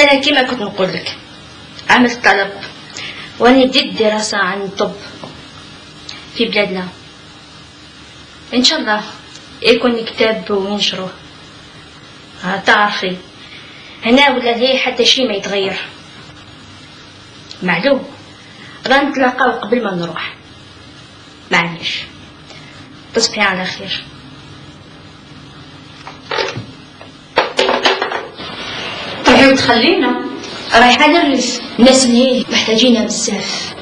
لا كيما كنت نقول لك، عملت طلب واني بديت دراسة عن الطب في بلادنا، ان شاء الله يكون كتاب وننشروه. تعرفي هنا ولا ليه حتى شي ما يتغير، معلوم رانا نتلاقاو قبل ما نروح. معليش تصبحي على خير. رايحة تخلينا؟ رايحة نرس الناس اللي محتاجينها بزاف.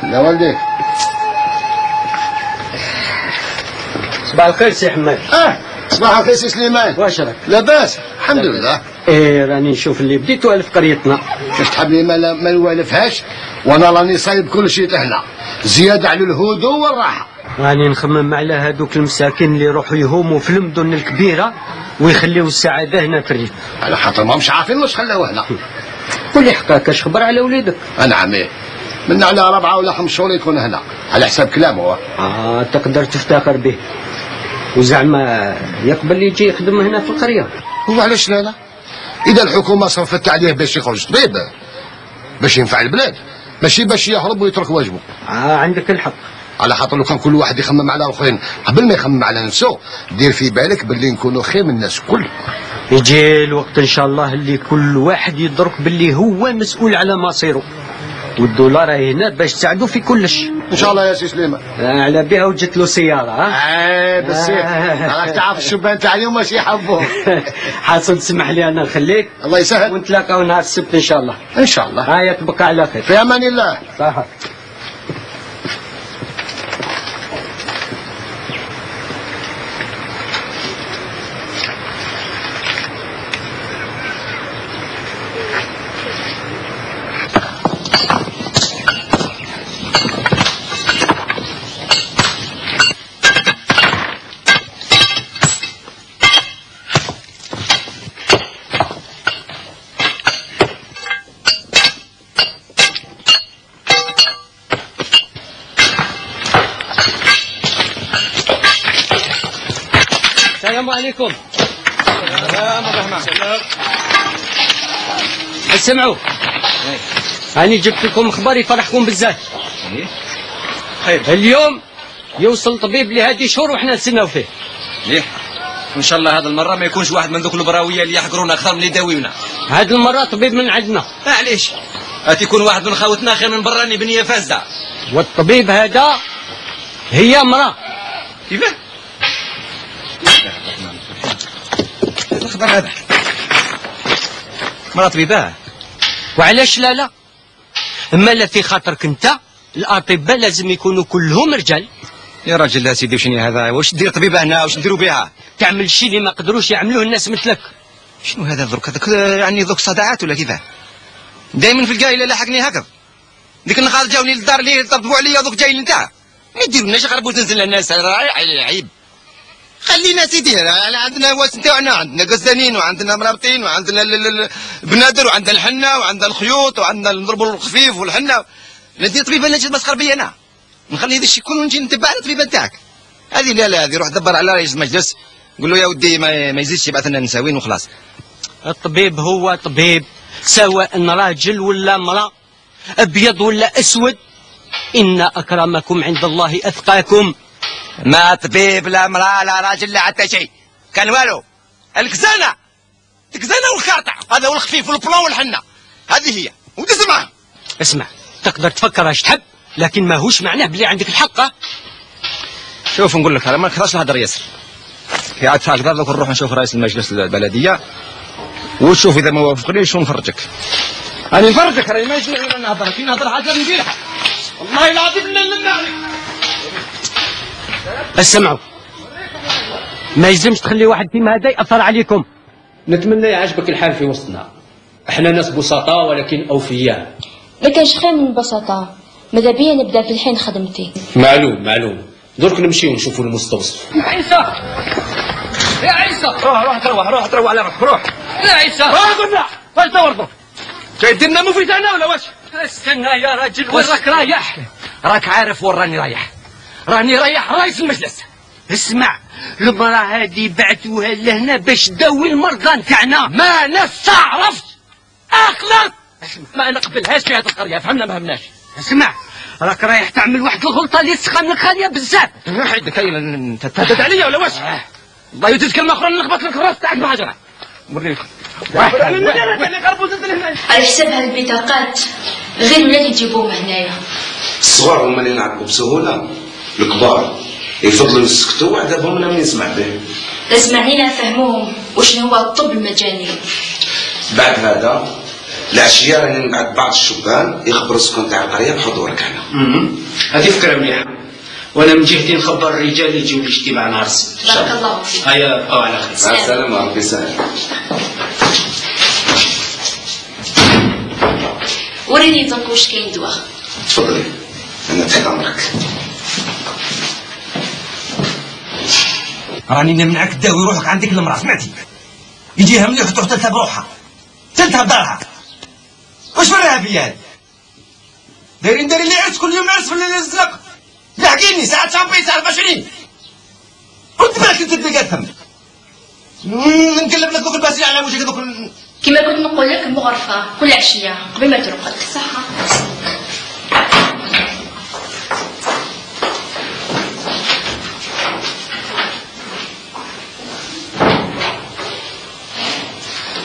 لا والديك. صباح الخير سي حماد. صباح الخير سي سليمان. واش راك؟ لاباس الحمد لله. راني نشوف اللي بديت والف قريتنا. كيف تحب لي ما نوالفهاش، وانا راني صايب كل شيء لهنا زياده على الهدوء والراحه. راني نخمم على هذوك المساكين اللي يروحوا يهوموا في المدن الكبيره ويخليوا السعاده هنا في الريف. على خاطر ما مش عارفين واش خلاوه هنا. قولي حقاك اش خبر على وليدك؟ نعم من على 4 ولا 5 شهور يكون هنا على حساب كلامه. تقدر تفتخر به. وزعما يقبل يجي يخدم هنا في القريه؟ وعلاش لا؟ اذا الحكومه صرفت عليه باش يخرج طبيب باش ينفع البلاد، ماشي باش يهرب ويترك واجبه. عندك الحق. على خاطر لو كان كل واحد يخمم على الاخرين قبل ما يخمم على نفسه، دير في بالك باللي نكونوا خير من الناس الكل. يجي الوقت ان شاء الله اللي كل واحد يدرك باللي هو مسؤول على مصيره، والدولار هنا باش تساعدوا في كلش ان شاء الله يا سي سليمان. على بها وجدت له سياره. بس راك تعرف الشبان تاع اليوم ماشي يحبوه. حاصل تسمح لي انا نخليك. الله يسهل. ونتلاقاو نهار السبت ان شاء الله. ان شاء الله. هيا تبقى على خير. في امان الله. صح. السلام عليكم. السلام ورحمة الله. اسمعوا، أنا جبت لكم خبر يفرحكم بزاف. خير. اليوم يوصل طبيب لهذه شهور وحنا نستناو فيه. ليه؟ وإن شاء الله هذا المرة ما يكونش واحد من ذوك البراوية اللي يحقرونا أكثر من اللي يداويونا. هذه المرة طبيب من عندنا. معليش. يكون واحد من خاوتنا خير من براني بنية فاسدة. والطبيب هذا هي امرأة. كيفاه؟ الخبر هذا مرة طبيبة. وعلاش لا؟ اما لا في خاطرك انت الاطباء لازم يكونوا كلهم رجال. يا راجل يا سيدي وشني هذا؟ واش دير طبيبة هنا؟ واش نديروا بها؟ تعمل شيء اللي ما قدروش يعملوه الناس مثلك. شنو هذا ذوك؟ هذاك يعني ذوك صداعات ولا كيفاه؟ دائما في القايله لاحقني هكذا. ديك النهار جاوني للدار اللي طبقوا عليا ذوك جايين نتاع. ما يديروناش غربوا تنزل الناس عيب. خلينا سيدي عندنا واس نتاعنا، عندنا قزانين وعندنا مرابطين وعندنا البنادر وعندنا الحنه وعندنا الخيوط وعندنا نضربوا الخفيف والحنه. ندير طبيبه نجي مسخر بيا انا، نخلي هذا الشيء كله نجي نتبع الطبيبه نتاعك. هذه لا هذه روح دبر على رئيس المجلس قول له يا ودي ما يزيدش يبعث لنا نساوين وخلاص. الطبيب هو طبيب سواء راجل ولا امرأة، ابيض ولا اسود. ان اكرمكم عند الله اتقاكم. ما طبيب لا امراه لا راجل لا حتى شيء، كان والو. الكزانه والخارطه، هذا هو الخفيف والبلون والحنه، هذه هي ودز معاهم. اسمع، تقدر تفكر اش تحب، لكن ماهوش معناه بلي عندك الحق. شوف نقول لك، انا ما نكثرش الهدر ياسر. في عاد هكذا دوك نروح نشوف رئيس المجلس البلديه وتشوف اذا ما وافقنيش ونفرجك. انا نفرجك، راني ما يجوز نهضر، كي نهضر حاجه نديرها والله العظيم نمنعني. اسمعوا، ما يلزمش تخلي واحد فيما هذا ياثر عليكم. نتمنى يعجبك الحال في وسطنا، احنا ناس بسطاء ولكن اوفياء. ما كانش خير من البساطة، ماذا بيا نبدا في الحين خدمتي. معلوم، درك نمشيو ونشوفوا المستوصف. يا عيسى روح تروح على روحك، روح يا عيسى قلنا فاش دور جاي ديرنا مفيد انا ولا واش؟ استنى يا راجل، وين راك رايح؟ راك عارف وين راني رايح؟ راني رايح رئيس المجلس. اسمع، المراه هذه بعثوها لهنا باش تداوي المرضى نتاعنا. ما نستعرفش اخلص، ما نقبلهاش في هذه القريه، فهمنا ما فهمناش. اسمع، راك رايح تعمل واحد الغلطه اللي تسخن لك خاليه بزاف. حيدك هي انت تهدد عليا ولا واش؟ الله يجوز كلمه اخرى نخبط لك الراس تاعك بحجره. وريك على حساب هاد البطاقات غير ولادي يجيبوهم هنايا. الصغار هما اللي ينعقوا بسهوله، الكبار يفضلوا يسكتوا وعذابهم انا من يسمع به. اسمعني نفهموهم وشنو هو الطب المجاني. بعد هذا العشيه راني نبعث بعض الشبان يخبروا السكان تاع القريه بحضورك هنا. هذه فكره مليحه، وانا من جهتي نخبر الرجال يجيو الاجتماع نهار السبت. بارك الله فيك. هيا بقاو على خير. مع السلامه، ربي يسهل. وريني دونك واش كاين دواء. تفضلي، انا تحت امرك. راني نمنعك تداوي روحك عندك المراه، سمعتي؟ يجيها مليح وتروح تلتها بروحها، تلتها بدارها. واش وراها بيا هذه؟ دايرين لي عرس كل يوم، عرس في الليل الزرق. لحقيني ساعة شامبي ساعة 24. قلت بالك انت تلقى ثم. نقلب لك دوك الباسين على وجهك دوك. كما كنت نقول لك مغرفة كل عشية قبل ما ترقد. صحة.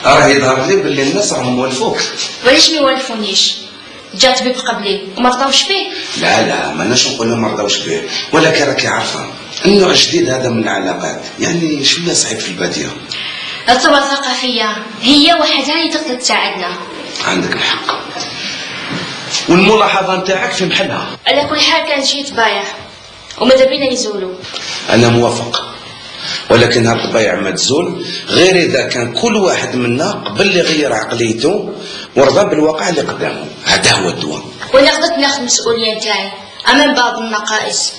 راه يظهر لي باللي الناس راهم والفوك. وعلاش ما يوالفونيش؟ جا طبيب قبلي وما رضاوش فيه. لا ماناش نقول لهم ما رضاوش به، ولكن راكي عارفه النوع الجديد هذا من العلاقات يعني شويه صعيب في الباديه. الثروة الثقافية هي وحدها اللي تقدر تساعدنا. عندك الحق، والملاحظه نتاعك في محلها. على كل حال كان شي طبايع وماذا بينا يزولوا. انا موافق، ولكن هاد الطبايع ما تزول غير اذا كان كل واحد منا قبل يغير عقليته ورضى بالواقع اللي قدامه. هذا هو الدواء. وانا قدرت ناخذ المسؤوليه نتاعي امام بعض النقائص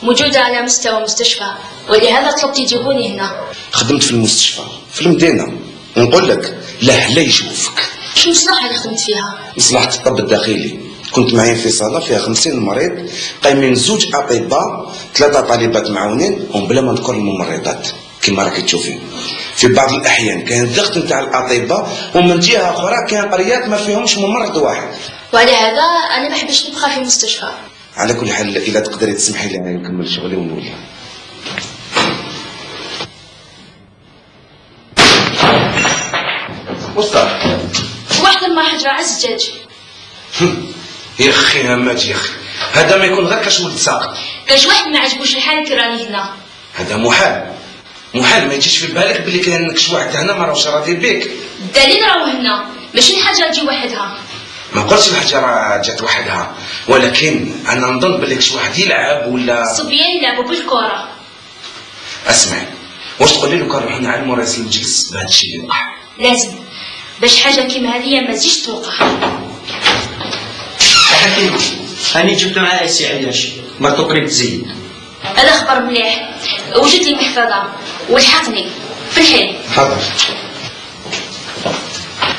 موجوده على مستوى مستشفى، ولهذا طلبت يجيبوني هنا. خدمت في المستشفى في المدينه، ونقول لك لا يشوفك. شو المصلحه اللي خدمت فيها؟ مصلحه الطب الداخلي. كنت معايا في صاله فيها 50 مريض، قايمين 2 اطباء 3 طالبات معاونين وبلا ما نذكر الممرضات. كما راكي تشوفين في بعض الاحيان كان ضغط نتاع الاطباء، ومن جهه اخرى كان قريات ما فيهمش ممرض واحد. وعلى هذا انا ما بحبش نبقى في المستشفى. على كل حال اذا تقدري تسمحي لي نكمل شغلي ونولي. وصل واحد ما حجره على الزجاج. يا اخي همات يا اخي، هذا ما يكون غير كشمل ساقط. كاش واحد ما عجبوش الحال كي راني هنا. هذا محال ما يجيش في بالك بلي كاين كش واحد هنا ما راهوش راضي بيك. الدليل راهو هنا، ماشي الحاجه تجي وحدها. ما قلتش الحجره جات وحدها، ولكن انا نظن بلي كش واحد يلعب ولا الصبيان يلعبوا بالكره. اسمعي، واش تقولي لو كان رحنا على رئيس المجلس بهذا الشيء اللي وقع؟ لازم باش حاجه كيما هذه ما تجيش توقع. حكيم، هاني جبت معايا السي عياش مرتو قريب تزيد. هذا خبر مليح، وجد لي محفظه والحقني في الحين. حاضر.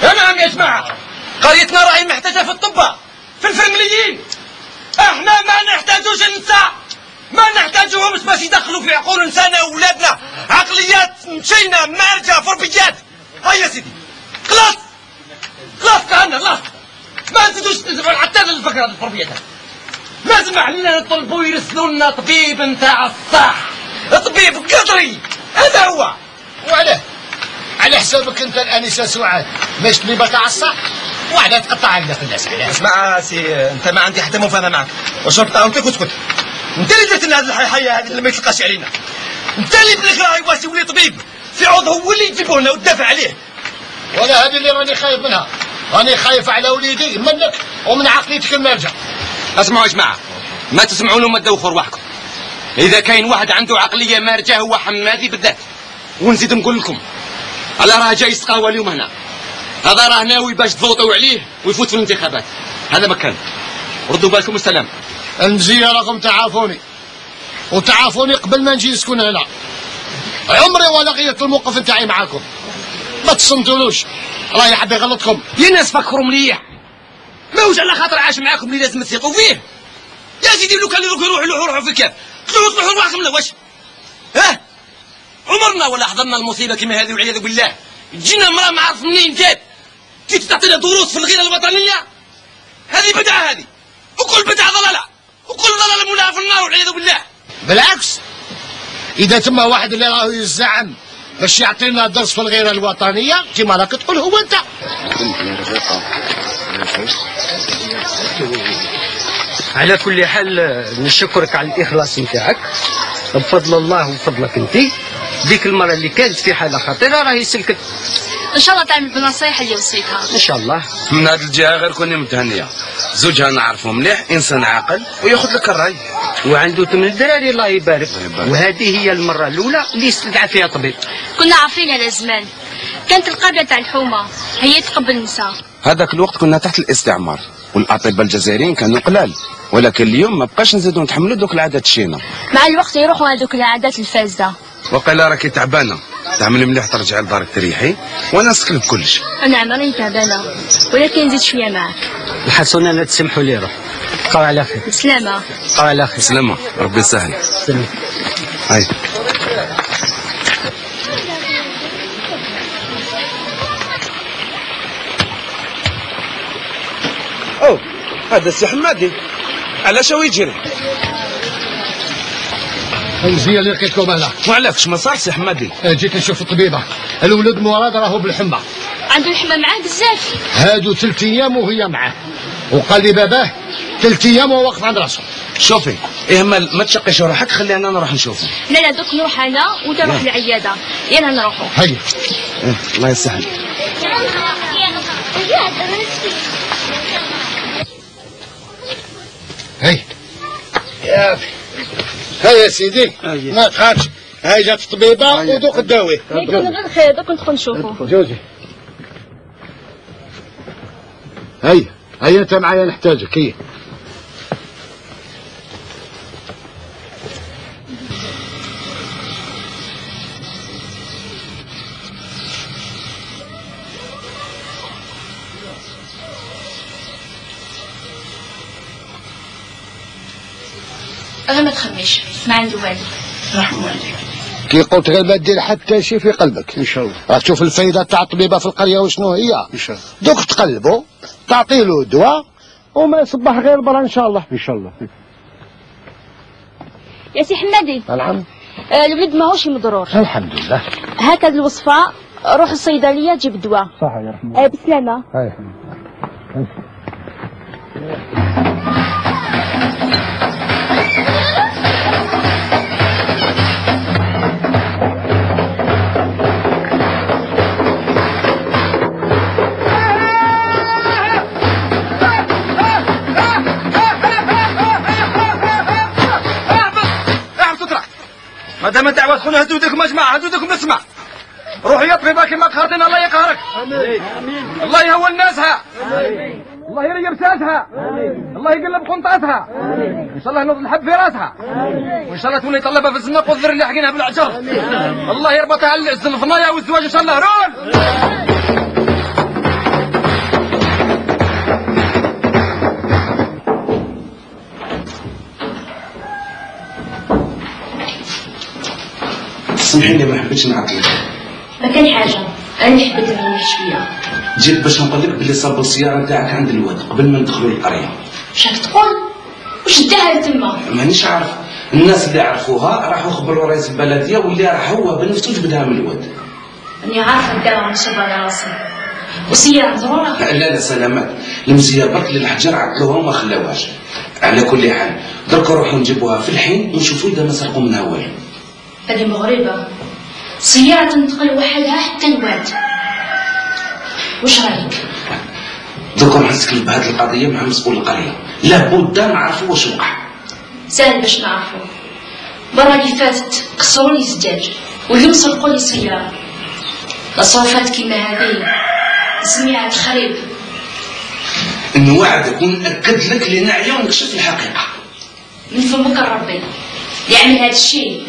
نعم يا جماعه، قريتنا راهي محتاجه في الطباء، في الفرمليين. احنا ما نحتاجوش النساء، ما نحتاجوهمش باش يدخلوا في عقول نسانا واولادنا عقليات مشينا مارجه فربيات. هيا سيدي خلاص كهنا خلاص، ما نزيدوش حتى الفكره الفربيات. لازم لنا نطلبوا يرسلوا لنا طبيب نتاع الصح، طبيب قدري، هذا هو. وعلاه؟ على حسابك انت الانسه سعاد ماش طبيبه تاع الصح، وعلاه تقطع علينا في الناس علاه؟ اسمع سي، انت ما عندي حتى مفاهمه معك، وشرط انت كنت انت اللي درت لنا هذه الحياه هذه اللي ما يتلقاش علينا، انت اللي بالاخر راهي واسي ولي طبيب في عوض هو اللي تجيبوه لنا وتدافع عليه. ولا هذه اللي راني خايف منها، راني خايف على وليدي منك ومن عقليتك المرجع. اسمعوا يا جماعه، ما تسمعوا له ما تدوخوا رواحكم. اذا كاين واحد عنده عقليه مارجه هو حمادي بالذات. ونزيد نقول لكم على راه جاي يسقاوى اليوم هنا، هذا راه ناوي باش تفوتوا عليه ويفوت في الانتخابات، هذا مكان. ردوا بالكم والسلام. المزيه راكم تعافوني وتعافوني قبل ما نجي نسكن هنا. عمري ولا غيرت الموقف نتاعي معاكم، ما تصنتولوش راه يحب يغلطكم. يا ناس فكروا مليح، ماهوش على خاطر عاش معاكم اللي لازم تثقوا فيه. يا سيدي لو كان يروحوا في الكاف تروحوا رواحكم لا واش؟ ها؟ عمرنا ولا حضرنا المصيبه كما هذه والعياذ بالله. تجينا امراه ما عرف منين جات تجي تعطينا دروس في الغيره الوطنيه، هذه بدعه هذه، وكل بدعه ضلاله، وكل ضلاله مولعه في النار والعياذ بالله. بالعكس، اذا تما واحد اللي راهو يزعم باش يعطينا درس في الغيره الوطنيه كما راك تقول هو انت. على كل حال نشكرك على الاخلاص نتاعك، بفضل الله وفضلك انت. ديك المره اللي كانت في حاله خطيره راهي سلكت. ان شاء الله تعمل بالنصايح اللي وصيتها ان شاء الله. من هذه الجهه غير كوني متهنيه، زوجها نعرفه مليح، انسان عاقل وياخذ لك الراي، وعنده 8 دراري الله يبارك. وهذه هي المره الاولى اللي استدعى فيها طبيب. كنا عارفين على زمان، كانت القابله تاع الحومه هي تقبل النساء. هذاك الوقت كنا تحت الاستعمار والاطباء الجزائريين كانوا قلال، ولكن اليوم ما بقاش نزيدوا نتحملوا دوك العادات الشينه. مع الوقت يروحوا هذوك العادات الفاسده. وقيلا راكي تعبانه، تعملي مليح ترجعي لدارك تريحي وانا نسكن بكلش. انا عمري تعبانه ولكن نزيد شويه معك. الحسنه لا تسمحوا لي، روح بقاو على خير. بسلامه. بقاو على خير. سلامه، ربي يسهل. سلام. هاي او هذا السي حمادي، علاش هو يجري؟ المزيه اللي لقيتكم هنا. وعلاش ما صار سي حمادي؟ جيت نشوف الطبيبه، الولد مراد راهو بالحمى. عنده الحمى معاه بزاف. هادو 3 ايام وهي معاه، وقال لي باباه 3 ايام وهو واقف عند راسه. شوفي اهمل، ما تشقيش روحك، خلي انا نروح نشوفه. لا دوك نروح انا وانت روح للعياده، يلا نروحوا. هيا. الله يسهل. هاي يا سيدي، ما تخافش، هاي جات الطبيبه ودوق الدواء. يكون غير خير، دوك ندخل نشوفوا. جوزي هيا انت معايا نحتاجك. هيا أنا ما تخميش، ما عنده والو. رحمة والديك. كي قلت غير ما دير حتى شي في قلبك. ان شاء الله راك تشوف الفايده تاع الطبيبه في القريه وشنو هي. ان شاء الله دوك تقلبوا تعطي له دواء وما يصبح غير برا ان شاء الله. ان شاء الله. يا سي حمادي. نعم. الولد ماهوش مضرور. الحمد لله. هكذا الوصفه، روح الصيدليه جيب الدواء. صح يا رحمة. بسلامه. ما دام دعوة تكون هدودكم اجمع، هدودكم اسمع. روح يا طبيبه كما قهرتنا الله يقهرك. امين. الله يهون ناسها. امين. الله يريب ساسها. امين. الله يقلب قنطاتها. امين. ان شاء الله ينوض الحب في راسها. امين. وان شاء الله تولي طلبها في الزناق والذر اللي حقينها بالعجر. امين. الله يربطها على الفنايا والزواج ان شاء الله. رول. سامحيني ما حبيتش نعطلك. ما كان حاجه، انا حبيت نريح شويه. جيت باش نقول لك بلي صابوا السياره نتاعك عند الواد قبل ما ندخلوا للقريه. واش راك تقول؟ واش داها تما؟ مانيش عارف. الناس اللي عرفوها راحوا خبروا رئيس البلديه واللي راح هو بنفسه جبدها من الواد. راني عارفه داها نصب على راسي. وسيارة ضرورة؟ لا سلامات، المزيه برك للحجر عطلوها وما خلاوهاش. على كل حال درك نروحوا نجيبوها في الحين ونشوفوا اذا ما سرقوا منها والو. هذه مغربة، سيارة تنتقل وحدها حتى لواد. واش رايك؟ درك نروح نسكن بهذه القضيه مع مسؤول القريه، لابد نعرفوا واش وقع. ساهل باش نعرفوا. المرة اللي فاتت كسروا لي الزجاج واليوم سرقوا لي سيارة. تصرفات كيما هذه نسميها تخريب. نوعدك ونأكد لك لنعيا ونكشف الحقيقة. من فمك ربي اللي يعمل هذا الشيء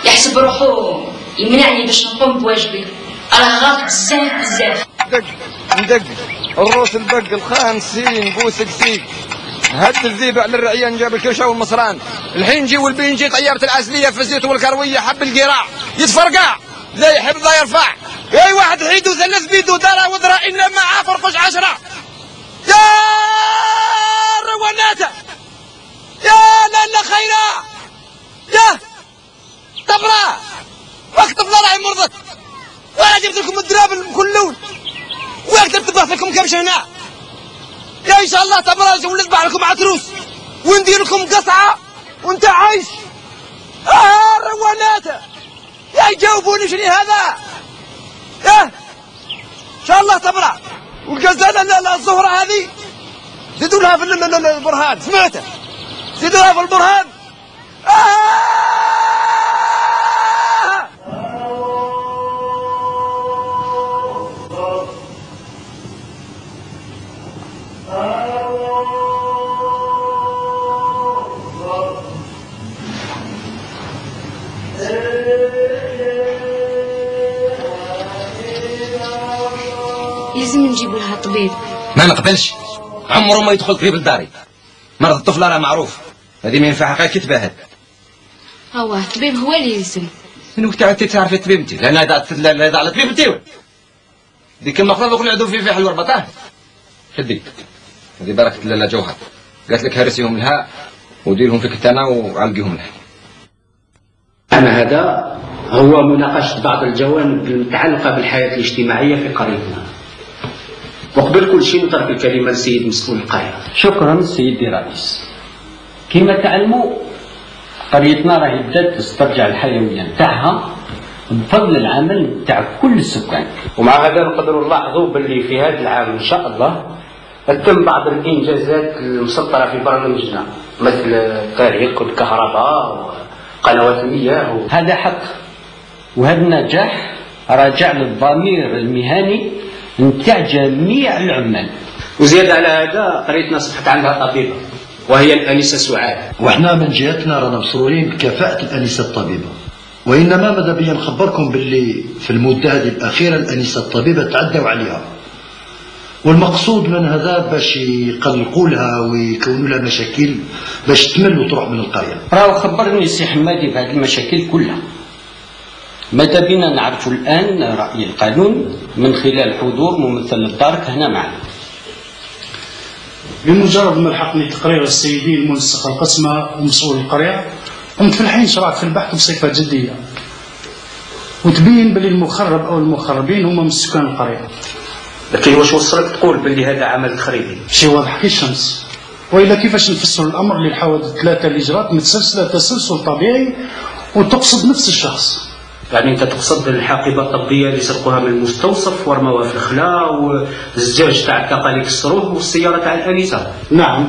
يحسب روحو يمنعني باش نقوم بواجبي. راه غلط بزاف. ندق الروس البق الخامسين بوسك سيك. هد الذيب على الرعيان جاب الكرشه والمصران. الحين جي والبينجي طياره العسليه في الزيت والكرويه حب القراع يتفرقع لا يحب لا يرفع. اي واحد حيدو ثلث بيدو درا ودرا انما معاه فرقش 10. يا رواناته يا لالا خيرا يا طبرا وقت طلع مرضت وانا جبت لكم الدراب بكل لون وقت طبخت لكم كبش هنا يا ان شاء الله طبرا ونذبح لكم عتروس وندير لكم قصعه وانت عايش. رواناته يا يجاوبوني شنو هذا يا ان شاء الله طبرا والغزاله الزهره هذه زيدوا لها في البرهان سمعته زيدوا لها في البرهان. لازم نجيبوا لها طبيب. ما نقبلش، عمره ما يدخل طبيب لداري. مرض الطفله راه معروف، هذه ما ينفعها غير كتباهد. هو الطبيب هو اللي يلزم. من وقت انت تعرفي الطبيب انت؟ لان هذا على الطبيب انت ديك المقرض وكل عدو في حل وربطاه. شدي هذه بركه لاله جوهر قالت لك هرسيهم لها وديرهم في كتانه وعلقيهم لها. أنا هذا هو مناقشة بعض الجوانب المتعلقة بالحياة الاجتماعية في قريتنا. وقبل كل شيء نترك الكلمة للسيد مسؤول القرية. شكرا سيدي رئيس. كما تعلموا قريتنا راهي بدات تسترجع الحيوية نتاعها بفضل العمل نتاع كل السكان. ومع هذا نقدروا نلاحظوا باللي في هذا العام إن شاء الله تم بعض الإنجازات المسطرة في برنامجنا مثل الطريق والكهرباء وقنوات المياه هذا حق، وهذا النجاح راجع للضمير المهني نتاع جميع العمال. وزيادة على هذا قريتنا صبحت عندها طبيبة وهي الأنسة سعاد. وإحنا من جهتنا رانا مسرورين بكفاءة الأنسة الطبيبة، وإنما ماذا بيا نخبركم باللي في المدة هذه الأخيرة الأنسة الطبيبة تعدوا عليها، والمقصود من هذا باش يقلقوا لها ويكونوا لها مشاكل باش تمل وتروح من القرية. راهو خبرني السي حمادي بهذه المشاكل كلها. ماذا بينا نعرفوا الآن رأي القانون من خلال حضور ممثل الدارك هنا معنا. بمجرد ما لحقني تقرير السيدي المنسق القسمة ومسؤول القرية قمت في الحين شرعت في البحث بصفة جدية وتبين بلي المخرب أو المخربين هما من سكان القرية. لكن واش وصلك تقول باللي هذا عمل تخريبي؟ شي واضح كالشمس. وإلا كيفاش نفسر الأمر للحوادث ثلاثة اللي جرات متسلسلة تسلسل طبيعي وتقصد نفس الشخص؟ يعني انت تقصد الحاقبه الطبيه اللي سرقوها من المستوصف ورموها في الخلاء والزجاج تاع الطاقه اللي كسروه والسياره تاع الانسه. نعم.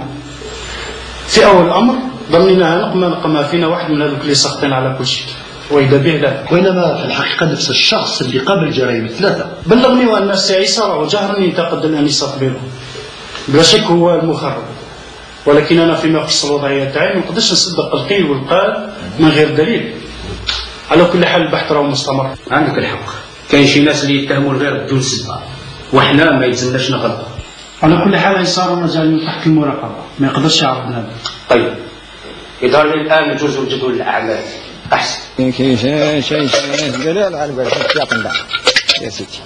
في اول الامر ظنيناها نقمه فينا واحد من هذوك اللي ساخطين على كل شيء واذا به لا. وإنما في الحقيقة نفس الشخص اللي قام بالجرائم الثلاثة. بلغني وان السي عيسى راه جهرني ينتقد الانسه طبيبه. بلا شك هو المخرب. ولكن انا فيما يخص الوضعيه تاعي ما نقدرش نصدق القيل والقال من غير دليل. على كل حال البحث راه مستمر. عندك الحق، كاين شي ناس اللي يتهموا الغير بدون سبب، وحنا ما يلزمناش نغلطوا. على كل حال صار مازال تحت المراقبه، ما يقدرش يعرض هذا. طيب، يظهر لي الان جزء جدول الاعمال احسن. دلال على بالك يا سيدي.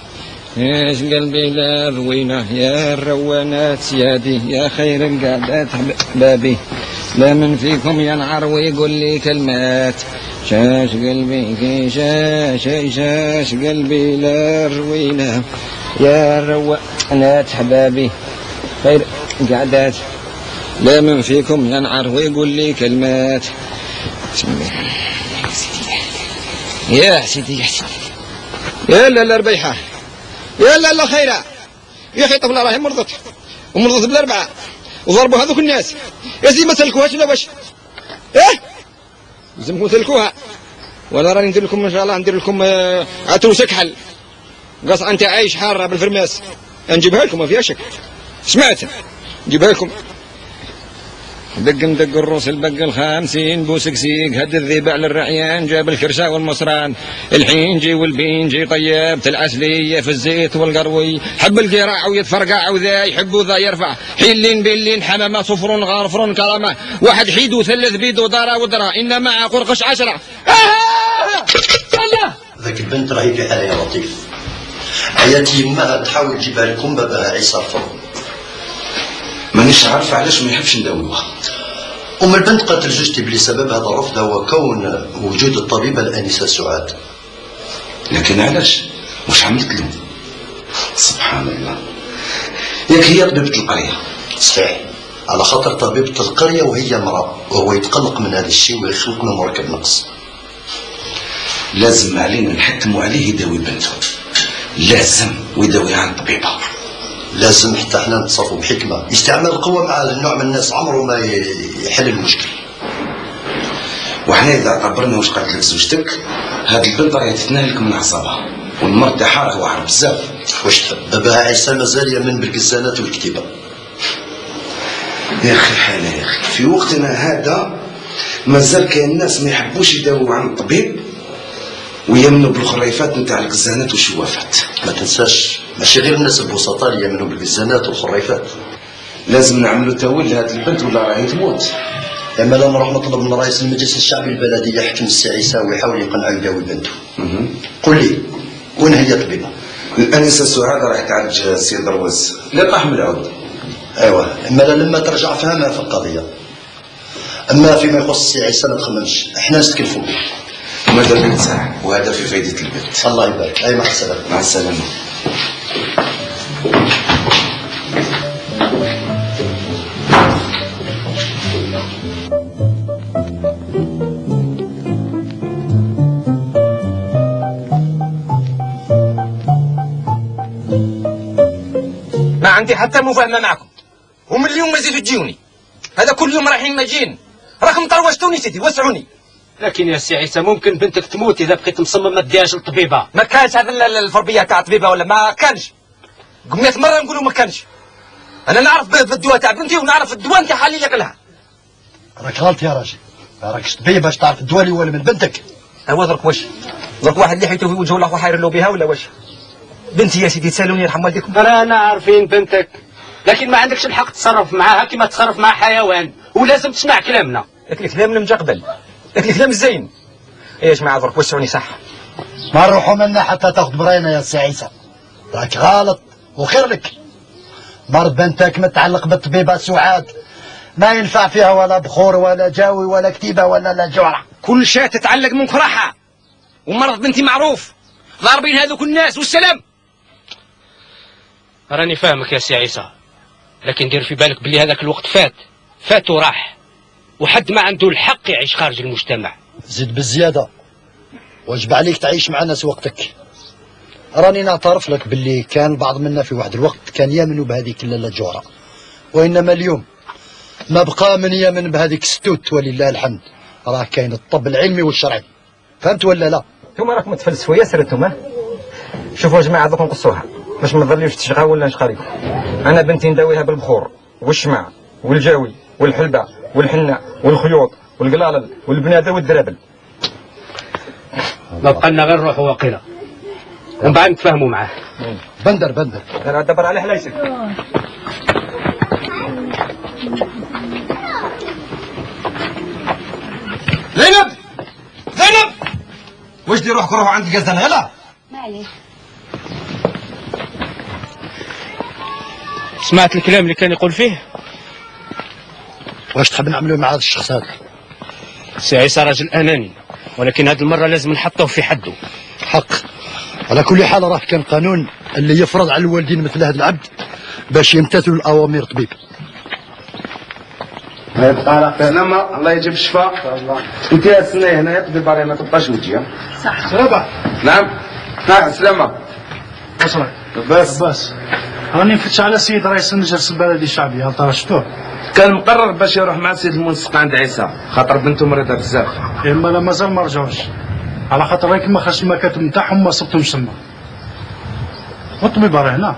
ايش قلبي لا روينه يا الروانات يا دي يا خير القعدات بابي لا من فيكم ينعر ويقول لي كلمات شاش قلبي كي شاش قلبي لا روينا يا روانات حبابي خير قعدات. لا من فيكم ينعر ويقول لي كلمات يا سيدي يا لا ربيحة يا لا خيرة يا أخي طفلة راهي مرضت ومرضت بالأربعة وضربوا هذوك الناس يا سيدي ما تسلكوهاش ولا واش؟ إيه؟ لازمكم تسلكوها ولا راني ندير لكم إن شاء الله ندير لكم عتروس كحل قصعة أنت عايش حارة بالفرماس نجيبها لكم ما فيها شك. سمعت نجيبها لكم ندق الروس البق 50 بوسكسيق هد الذيب على الرعيان جاب الكرشة والمصران الحينجي والبينجي طيبت العسلية في الزيت والقروي حب القراع ويتفرقع وذا يحب وذا يرفع حيلين بلين حمامة صفر غارفر كرامة واحد حيد وثلث بيد ودارا ودرا إن مع قرقش 10. ذاك البنت راهي في حالة يا لطيف عياتي يماها تحاول تجيبها لكم باباها عيسى رفض. مانيش عارف علاش ما يحبش نداويوها. البنت قالت لزوجتي بلي سبب هذا الرفض هو كون وجود الطبيبة الآنسة سعاد. لكن علاش؟ واش عملت له؟ سبحان الله. ياك هي طبيبة القرية. صحيح على خاطر طبيبة القرية وهي امرأة وهو يتقلق من هذا الشيء ويخلق له مركب نقص. لازم علينا نحتموا عليه يداوي بنته. لازم ويداويها عن طبيبة. لازم حتى احنا نتصرفوا بحكمة. استعمال القوة مع النوع من الناس عمره ما يحل المشكل. وحنا إذا اعتبرنا واش قالت لك زوجتك هذه البنت راهي تتناهلك من أعصابها والمرض تاعها راه واعر بزاف. واش تحب باباها عيسى مازال يامن بالقزانات والكتيبة. يا أخي حالة يا أخي في وقتنا هذا مازال كاين الناس ما يحبوش يداووا عن الطبيب ويمنوا بالخريفات نتاع القزانات والشوافات. ما تنساش ماشي غير الناس البسطاء اللي يمنوا بالقزانات والخريفات. لازم نعملوا تاويل لهذه البنت ولا راهي تموت. اما لا نروح نطلب من رئيس المجلس الشعبي البلدي يحكم السي عيسى ويحاول يقنعه يداوي بنته. قل لي وين هي طبيبه؟ الانسه سعاد راح تعالج السي درويز لا طاح من العود. ايوه اما لما ترجع فهمها في القضيه. اما فيما يخص السي عيسى ما تخممش احنا نستكلفوا به. ماذا بك ساعه وهذا في فائده البنت. الله يبارك. اي مع السلامه. مع السلامه. ما عندي حتى مفاهمة معكم ومن اليوم ما زيدوا تجيوني. هذا كل يوم رايحين ماجين راكم طروشتوني سيدي وسعوني. لكن يا سي عيسى ممكن بنتك تموت اذا بقيت مصمم ما تديهاش للطبيبه. ما كانش هذا الفربيه تاع الطبيبه ولا ما كانش. 100 مره نقولوا ما كانش. انا نعرف بالدواء تاع بنتي ونعرف الدواء نتاعها اللي ياكلها. راك غلط يا راجل. راكش طبيب باش تعرف الدواء اللي هو من بنتك. هو درك واش درك واحد اللي حيته في وجهه الله وحاير له بها ولا واش؟ بنتي يا سيدي تسالوني يرحم والديكم. رانا عارفين بنتك لكن ما عندكش الحق تتصرف معاها كما تصرف مع حيوان ولازم تسمع كلامنا. لك الكلام المجقبل لك الكلام الزين. ايش مع درك وسعوني صح. ما نروحوا منا حتى تاخذ براينا يا سي عيسى. راك غلط وخير لك. مرض بنتك متعلق بالطبيبه سعاد ما ينفع فيها ولا بخور ولا جاوي ولا كتيبه ولا لا جوعه. كل شيء تتعلق من كراحه ومرض بنتي معروف ضاربين هذوك الناس والسلام. راني فاهمك يا سي عيسى لكن دير في بالك بلي هذاك الوقت فات وراح وحد ما عنده الحق يعيش خارج المجتمع. زيد بالزياده واجب عليك تعيش مع ناس وقتك. راني نعترف لك باللي كان البعض منا في واحد الوقت كان يامنوا بهذيك اللاله جوره وانما اليوم ما بقى من يامن بهذيك الستوت ولله الحمد. راه كاين الطب العلمي والشرعي. فهمت ولا لا؟ انتوما راكم تفلسفوا ياسر انتوما. شوفوا يا جماعه دوك نقصوها باش ما نظليوش تشغى ولا نشقى. انا بنتي نداويها بالبخور والشمع والجاوي والحلبه والحنه والخيوط والقلالل والبناده والدرابل. ما بقى لنا غير نروحوا واقيلا ومن بعد نتفاهموا معاه. بندر انا دبر عليه ليس. زينب واش دير روحكم روحوا عند القزان غلا؟ معليش. سمعت الكلام اللي كان يقول فيه؟ واش تحب نعملوا مع هذا الشخص هذا؟ سي عيسى راجل اناني، ولكن هذه المره لازم نحطوه في حده. حق. على كل حال راه كان قانون اللي يفرض على الوالدين مثل هذا العبد باش يمتثلوا الاوامر الطبيب. سلامة، الله يجيب الشفاء. انت يا سني هنا تدير بالي ما تبقاش وجهي. صح. سلامة. نعم. نعم سلامة. أصلا. بس. راني نفتش على السيد رئيس المجلس البلدي الشعبي، هل ترى شفتوه؟ كان مقرر باش يروح مع السيد المنسق عند عيسى، خاطر بنته مريضة بزاف. اما لا مازال ما رجعوش، على خاطر راك ما خرجش المكاتب نتاعهم ما صبتهمش تما. والطبيب راه هنا.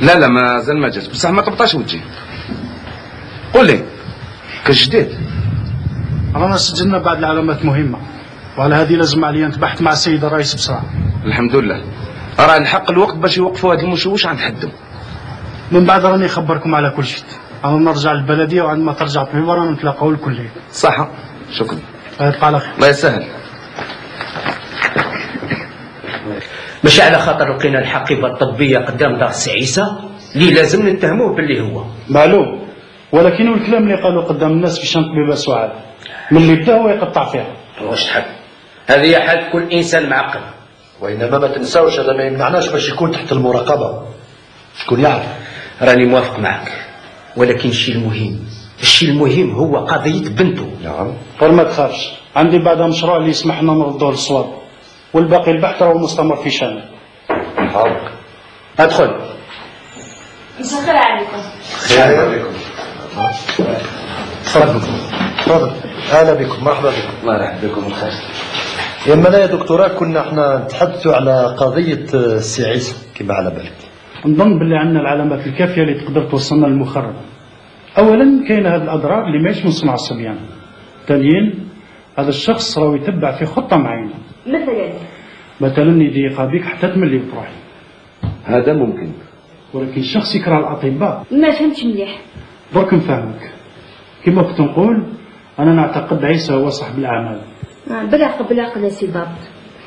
لا مازال ما جاش، بصح ما طبطاش وجهي. قول لي كاش جديد؟ رانا سجلنا بعض العلامات مهمة، وعلى هذه لازم عليا نتبحث مع السيد الرئيس بسرعة. الحمد لله، راه الحق الوقت باش يوقفوا هذا المشوش عند حدهم. من بعد راني نخبركم على كل شيء. انا نرجع للبلدية وعندما ترجع الطبيب رانا نتلاقاو الكلية. صح، شكرا. يبقى على خير. الله يسهل. مش على خاطر لقينا الحقيبه الطبيه قدام دار السي عيسى اللي لازم نتهموه باللي هو معلوم، ولكن الكلام اللي قالوا قدام الناس في شان طبيبه سعاد من اللي بدا هو يقطع فيها. واش تحب؟ هذه حال كل انسان معقل. وانما ما تنساوش هذا ما يمنعناش باش يكون تحت المراقبه. شكون يعرف؟ راني موافق معك، ولكن الشيء المهم هو قضيه بنته. نعم. ما تخافش، عندي بعدها مشروع اللي يسمح لنا نردوه للصواب، والباقي البحث راهو مستمر في شانه. حاضر. ادخل. مساء الخير عليكم. خير عليكم. تفضل. اهلا بكم، مرحبا بكم. الله يرحب بكم الخير. يما لا يا دكتوراه كنا احنا نتحدثوا على قضيه السي عيسى كما على بالك. نظن باللي عندنا العلامات الكافيه اللي تقدر توصلنا للمخرج. اولا كاين هذه الاضرار اللي ماهيش من صنع الصبيان. ثانيا هذا الشخص راهو يتبع في خطه معينه. مثلا يضيق بك حتى تملي وتروحي. هذا ممكن. ولكن الشخص يكره الاطباء. ما فهمتش مليح. درك نفهمك. كما كنت نقول انا نعتقد عيسى هو صاحب الاعمال. بالعقل يا سي باب،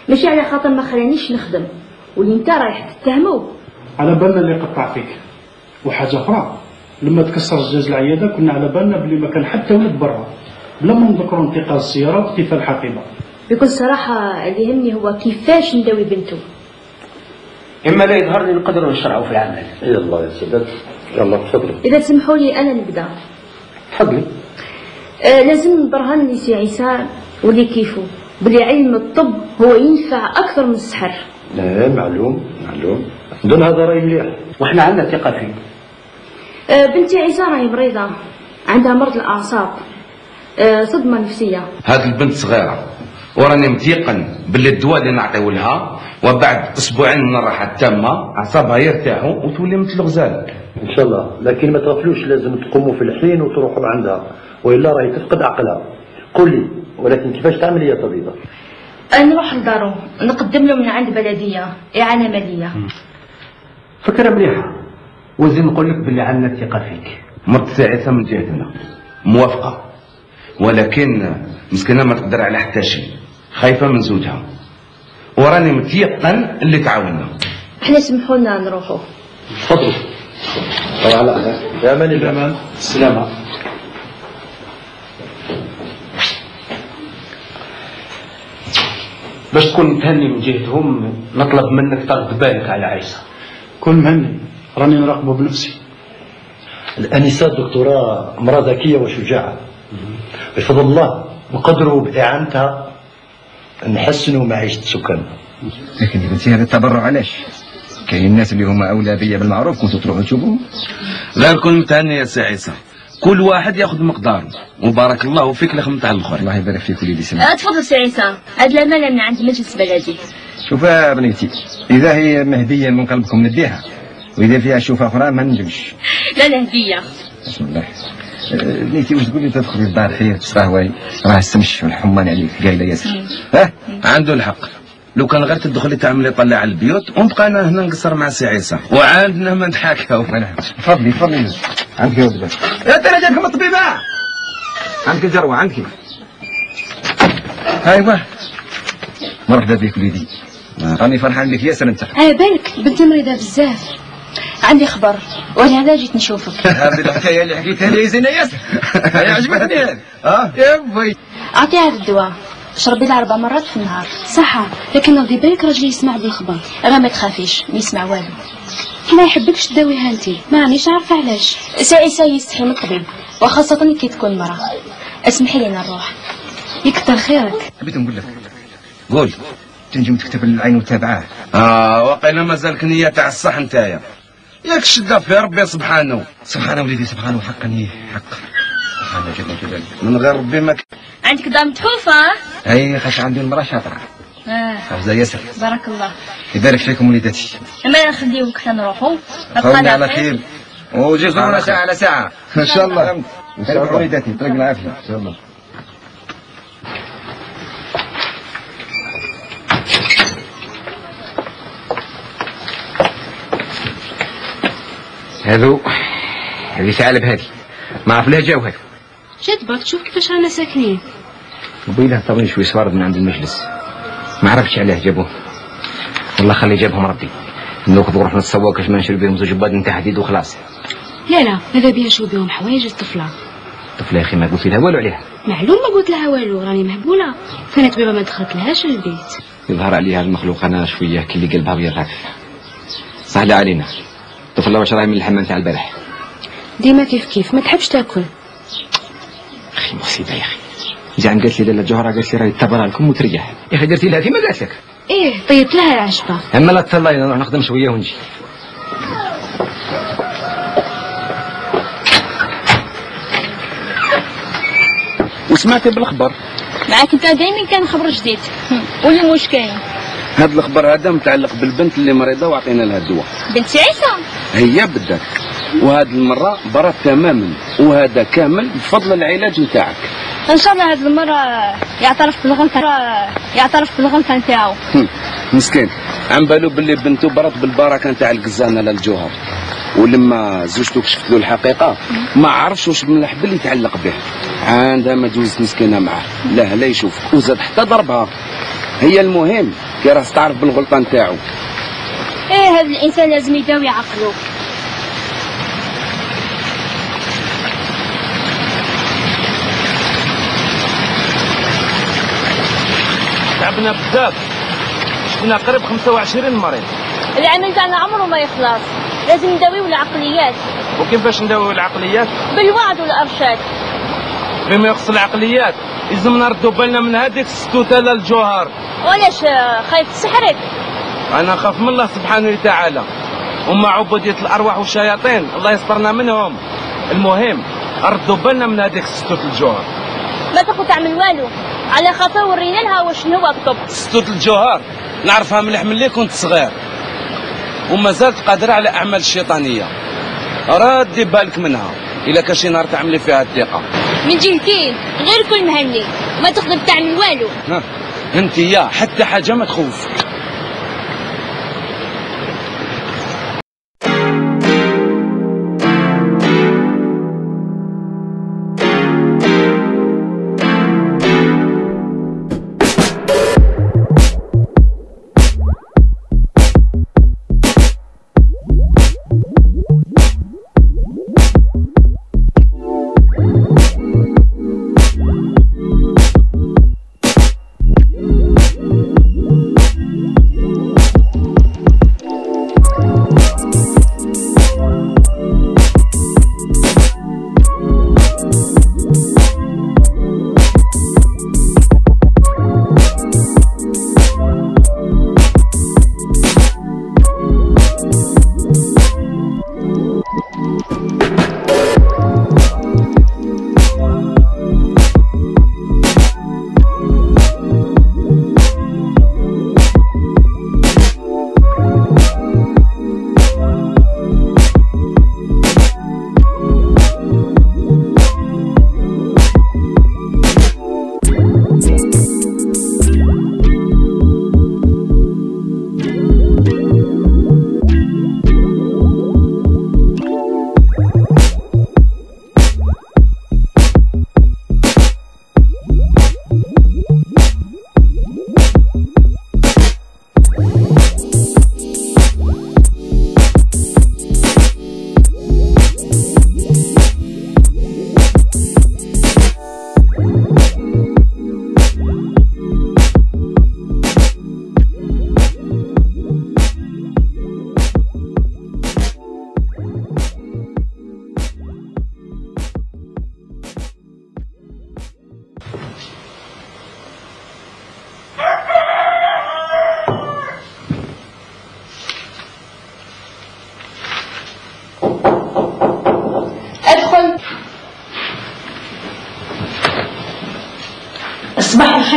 ماشي على خاطر ما خلانيش نخدم واللي انت رايح تتهمه. على بالنا اللي قطع فيك. وحاجه اخرى، لما تكسر زجاج العياده كنا على بالنا بلي ما كان حتى ولد برا، بلا ما نذكروا انتقال السياره واختفاء الحقيبه. بكل صراحه اللي يهمني هو كيفاش نداوي بنته. اما لا يظهر لي نقدروا نشرعوا في العمل. يلا يا سيدات، يلا تفضلوا. اذا تسمحوا لي انا نبدا. تفضلي. لازم نبرهن لي سي عيسى واللي كيفه بلي علم الطب هو ينفع اكثر من السحر. لا معلوم. دون هذا راي مليح، واحنا عندنا ثقه فيه. بنتي عيسى راهي مريضه، عندها مرض الاعصاب، صدمه نفسيه. هذه البنت صغيره وراني متيقن باللي الدواء اللي نعطيو لها وبعد اسبوعين من الراحه التامه اعصابها يرتاحوا وتولي مثل الغزال ان شاء الله. لكن ما تغفلوش، لازم تقوموا في الحين وتروحوا عندها، والا راهي تفقد عقلها. قول لي، ولكن كيفاش تعمل يا طبيبه؟ نروح لدارو نقدم له من عند بلديه اعانه ماليه. فكره مليحه، وزين نقول لك باللي عندنا ثقه فيك. مرت سي عيسى من جهتنا موافقه، ولكن مسكينه ما تقدر على حتى شيء، خايفه من زوجها، وراني متيقن اللي تعاوننا. احنا سمحوا لنا نروحوا. تفضلوا. على يا امان الامان. السلامه. باش تكون متهني من جهتهم نطلب منك ترد بالك على عيسى. كل مهني، راني نراقبه بنفسي. الانسه الدكتوراه امراه ذكيه وشجاعه، بفضل الله نقدروا باعانتها نحسنوا معيشه السكان. لكن يا بنتي هذا التبرع علاش؟ كاين الناس اللي هما اولى بيا بالمعروف كنتوا تروحوا تشوفوهم. لا نكون متهني يا سي عيسى، كل واحد ياخذ مقداره، وبارك الله فيك لخدمت على الاخر. الله يبارك فيك وليدي سمع. تفضل سي عيسى، هاد الامانه من عند مجلس بلدي. شوف يا بنيتي، اذا هي مهديه من قلبكم نديها، واذا فيها شوفه اخرى ما نجمش. لا هديه. بسم الله. بنيتي واش تقولي تدخلي الدار خير تستهواي، راه السمش والحمان عليك قايله ياسر. عنده الحق، لو كان غير تدخلي تعملي طلع على البيوت ونبقى انا هنا نقصر مع سي عيسى وعندنا ما نتحاكاو. تفضلي عندك يا ولد. يا ترى جاتكم الطبيبه؟ عندك الجروه عندك. ايوا مرحبا بك وليدي، راني فرحان بك ياسر انت. بالك بنتي مريضه بزاف، عندي خبر ولهذا جيت نشوفك. هذه الحكايه اللي حكيتها لي زينه ياسر. عجبتني هذه. يا بوي اعطيه هذا الدواء، شربي له 4 مرات في النهار. صح، لكن ردي بالك راجلي يسمع بالخبر. غير ما تخافيش، ما يسمع والو. ما يحبكش تداويها انت، ما رانيش عارفه علاش. سعيسة يستحي من الطبيب، وخاصة كي تكون مرأة. اسمحي لنا نروح. يكتر خيرك. حبيت نقول لك، قول تنجم تكتب العين وتابعاه. واقيلا مازالك نية تاع الصح نتايا. ياك شدة في ربي سبحانه. سبحانه وليدي سبحانه، حقا حق. سبحانه جل جلاله. من غير ربي ما عندك دار متحوفة؟ اي خاش عندي المرأة شاطرة. حافظة ياسر. بارك الله. يبارك فيكم وليداتي. اما نخليوك حتى نروحوا. خلينا على خير. وجي زورنا ساعة على ساعة. ان شاء الله. ان شاء الله وليداتي، يعطيك العافية. ان شاء الله. هذه ثعلب هذه، ما عرف لها جاو هذا. جدبك تشوف كيفاش رانا ساكنين. وبيله طبعا شوي صوارد من عند المجلس، ما عرفتش علاه جابوه. والله خلي جابهم ربي. ناخذ روحنا نتصور كاش ما نشري بهم زوج باد نتاع حديد وخلاص. لا ماذا بيا نشوف بهم حوايج الطفله. الطفله يا اخي ما قلت لها والو عليها. معلوم ما قلت لها والو، راني مهبوله. كانت بابا ما دخلت لهاش البيت. يظهر عليها المخلوق انا شويه كي اللي قلبها بيرغف. سهله علينا. الطفله واش راهي من الحمام تاع البارح. ديما كيف ما تحبش تاكل. اخي مصيبه يا اخي. زعما قالت لي لاله جوهره، قالت لي راهي تبرها لكم وتريح. يا اخي درتي لها كيما قالت لك. ايه طيبت لها العشبه. اما لا تطلعي نروح نخدم شويه ونجي. وسمعتي بالاخبار؟ معاك انت دايما كان خبر جديد. قولي واش كاين. هذا الخبر هذا متعلق بالبنت اللي مريضه وعطينا لها الدواء. بنت سعيسة؟ هي بالذات، وهذه المره برات تماما، وهذا كامل بفضل العلاج نتاعك. ان شاء الله هذه المره يعترف بالغلطه نتاعو. مسكين عم بالو باللي بنته برات بالبركه نتاع القزانه للجوهر، ولما زوجته كشفت له الحقيقه ما عرفش واش من الحبل اللي يتعلق به. عندها ما جوزت مسكينه معاه، لا يشوفك وزاد حتى ضربها. هي المهم كي راس تعرف بالغلطه نتاعو. ايه هذا الانسان لازم يداوي عقله. تعبنا بزاف، شفنا قريب 25 مريض. العمل تاعنا عمره ما يخلص، لازم نداويو العقليات. وكيفاش نداويو العقليات؟ بالوعد والارشاد. بما يخص العقليات لازم نردوا بالنا من هذيك الستوته للجوهر. وعلاش خايف تسحرك؟ انا خاف من الله سبحانه وتعالى، وما عبوديه الارواح والشياطين الله يسترنا منهم. المهم ردوا بالنا من هذيك ستوت الجوهر. ما تاخذ تعمل والو، على خاطر ورينا لها واش هو الطب. ستوت الجوهر نعرفها مليح ملي كنت صغير، وما زالت قادره على اعمال الشيطانيه. ردي بالك منها الا كان شي نهار تعملي فيها الثقه. من جهتين غير كل مهني، ما تقدر تعمل والو. انت يا حتى حاجه ما تخوفك.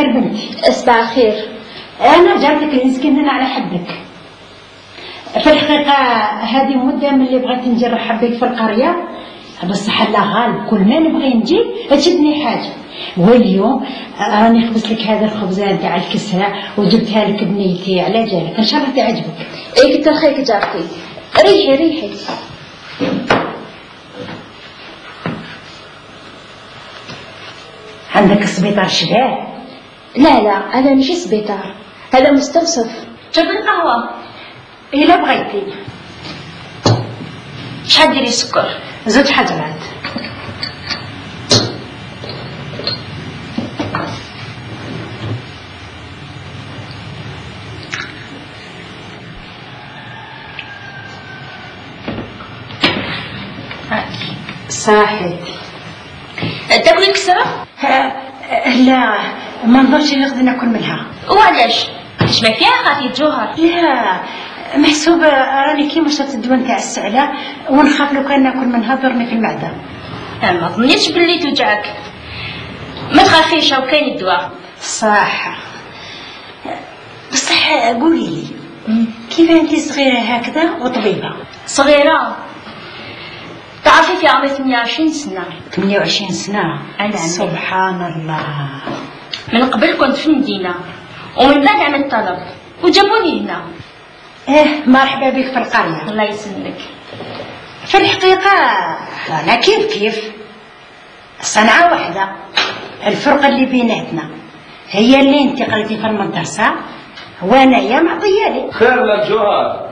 الخير بنتي. صباح الخير. انا جاتك المسكين على حدك. في الحقيقه هذه مده من اللي بغيت نجي نرحب بك في القريه، بصح الله غالب كل ما نبغي نجي تشدني حاجه. واليوم راني خبزت لك هذا الخبزه تاع الكسره وجبتها لك بنيتي على جالك، ان شاء الله تعجبك. اي كتر خيرك جارتي. ريحي ريحي. عندك السبيطار شباب؟ لا هذا ماشي سبيطار، هذا مستوصف. جاب القهوه الا بغيتي. شحال ديري سكر؟ 2 حجرات. صحيت. تاكلي كسرة؟ لا ما نظنش نقدر ناكل منها. وعلاش؟ اش ما فيها خاطي جوهر؟ لا محسوبة راني كيما شربت الدواء نتاع السعلة ونخاف لو كان ناكل منها ضرني في المعدة. ما ظنيتش باللي توجعك. ما تخافيش هاو كاين الدواء. صح. بصح قولي لي كيف انتي صغيرة هكذا وطبيبة؟ صغيرة؟ تعرفي في عمري 28 سنة. 28 سنة؟ أنا سبحان الله. من قبل كنت في المدينة ومن بعد عملت طلب وجابوني هنا. مرحبا بك في القرية. الله يسلمك. في الحقيقة أنا كيف صنعة واحدة، الفرق اللي بيناتنا هي اللي انت قريتي في المدرسة وانايا معطيالي. خير لك جوهر،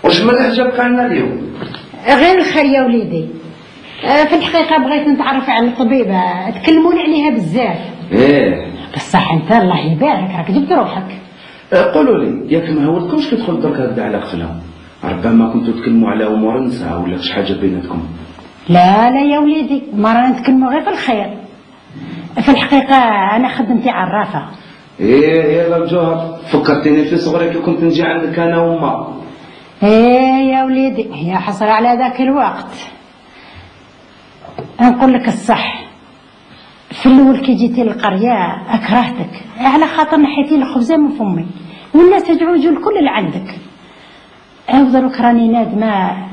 واش مليح جابك عنا اليوم؟ غير الخير يا وليدي. في الحقيقة بغيت نتعرف على الطبيبة، تكلموني عليها بزاف. بصح انت الله يبارك راك جبت روحك. قولوا لي ياك ما هولتكمش تدخل درك هكذا على قفلهم؟ ربما كنتوا تكلموا على امور نساء ولا شي حاجه بيناتكم. لا يا وليدي، ما رانا نتكلموا غير في الخير. في الحقيقة أنا خدمتي عرافة. يا الجوهر فكرتيني في صغري كي كنت نجي عندك أنا وما. يا وليدي يا حسرة على ذاك الوقت. نقول لك الصح، في الأول كي جيتي للقرية أكرهتك على خاطر نحيتي الخبزة من فمي والناس يجعوجوا الكل اللي عندك. دروك راني نادمة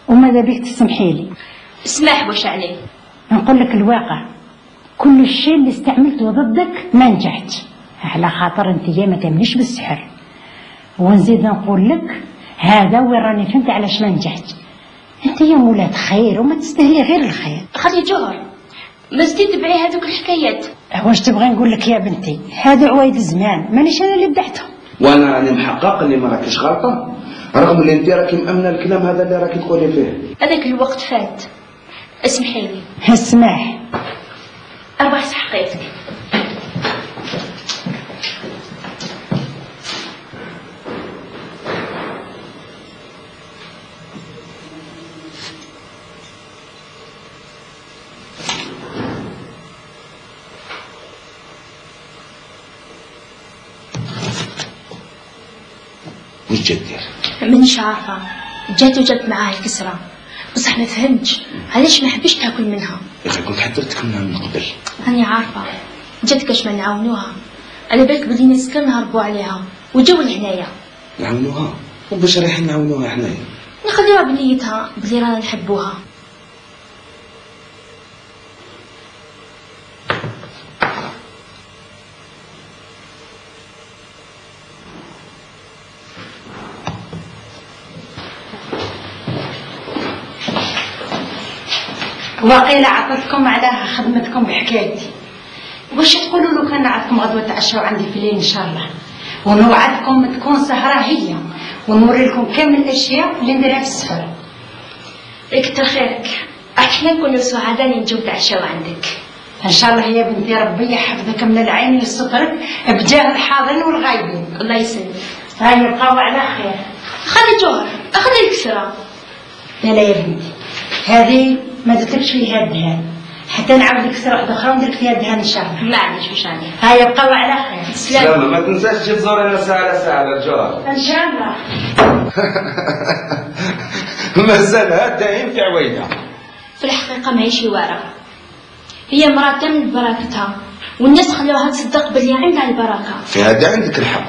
وماذا بيك تسمحي لي. اسمح واش عليه. نقول لك الواقع، كل الشيء اللي استعملته ضدك ما نجحت على خاطر انت ما تمنيش بالسحر. ونزيد نقول لك هذا وين راني فهمت علاش ما نجحت. انت يا مولات خير وما تستاهلي غير الخير. خلي جوهر ما زدتي تبعي هذوك الحكايات. واش تبغي نقول لك يا بنتي، هذا عوايد الزمان مانيش انا اللي بدحتهم. وانا راني محقق اللي ما راكيش غلطه، رغم اللي انت راكي مامنه الكلام هذا اللي راكي تقولي فيه. هذاك الوقت فات. اسمحي لي. اسمح. اربح حقيقتك. وش جات دير؟ مانيش عارفه، جات وجات معاه الكسره بصح ما فهمتش علاش ما حبيتش تاكل منها. يا اخي كنت حضرتك منها من قبل. راني عارفه، جات كاش ما نعاونوها، على بالك بلي ناس كان نهربوا عليها وجاو لهنايا. نعاونوها؟ وباش رايحين نعاونوها حنايا؟ نخليوها بنيتها بلي رانا نحبوها. وقيل عطتكم على خدمتكم بحكايتي. واش تقولوا لو كان نعرفكم غدوه تعشوا عندي في الليل ان شاء الله، ونوعدكم تكون سهره هي ونوري لكم كامل الاشياء اللي نديرها في السفر. كتر خيرك، احنا نكونوا سعداء نجيو تعشوا عندك ان شاء الله يا بنتي. ربي يحفظك من العين لسترك بجاه الحاضرين والغايبين. الله يسلمك. هاي يبقاو على خير. خلي جوهر، خلي الكسره. لا يا بنتي، هذه ما درتلكش فيها الدهان، حتى نعاود لك كسره واحده اخرى وندير لك فيها الدهان ان شاء الله. معليش واش عليه. هاي يبقاو على خير. سلامة. ما تنساش تجي تزورينا ساعة على ساعة على الجوهر. ان شاء الله. مازالها دايم في عويدها. في الحقيقه ماهيش وارا، هي مرأة من بركتها، والناس خلوها تصدق باللي عندها البركة. في هذا عندك الحق.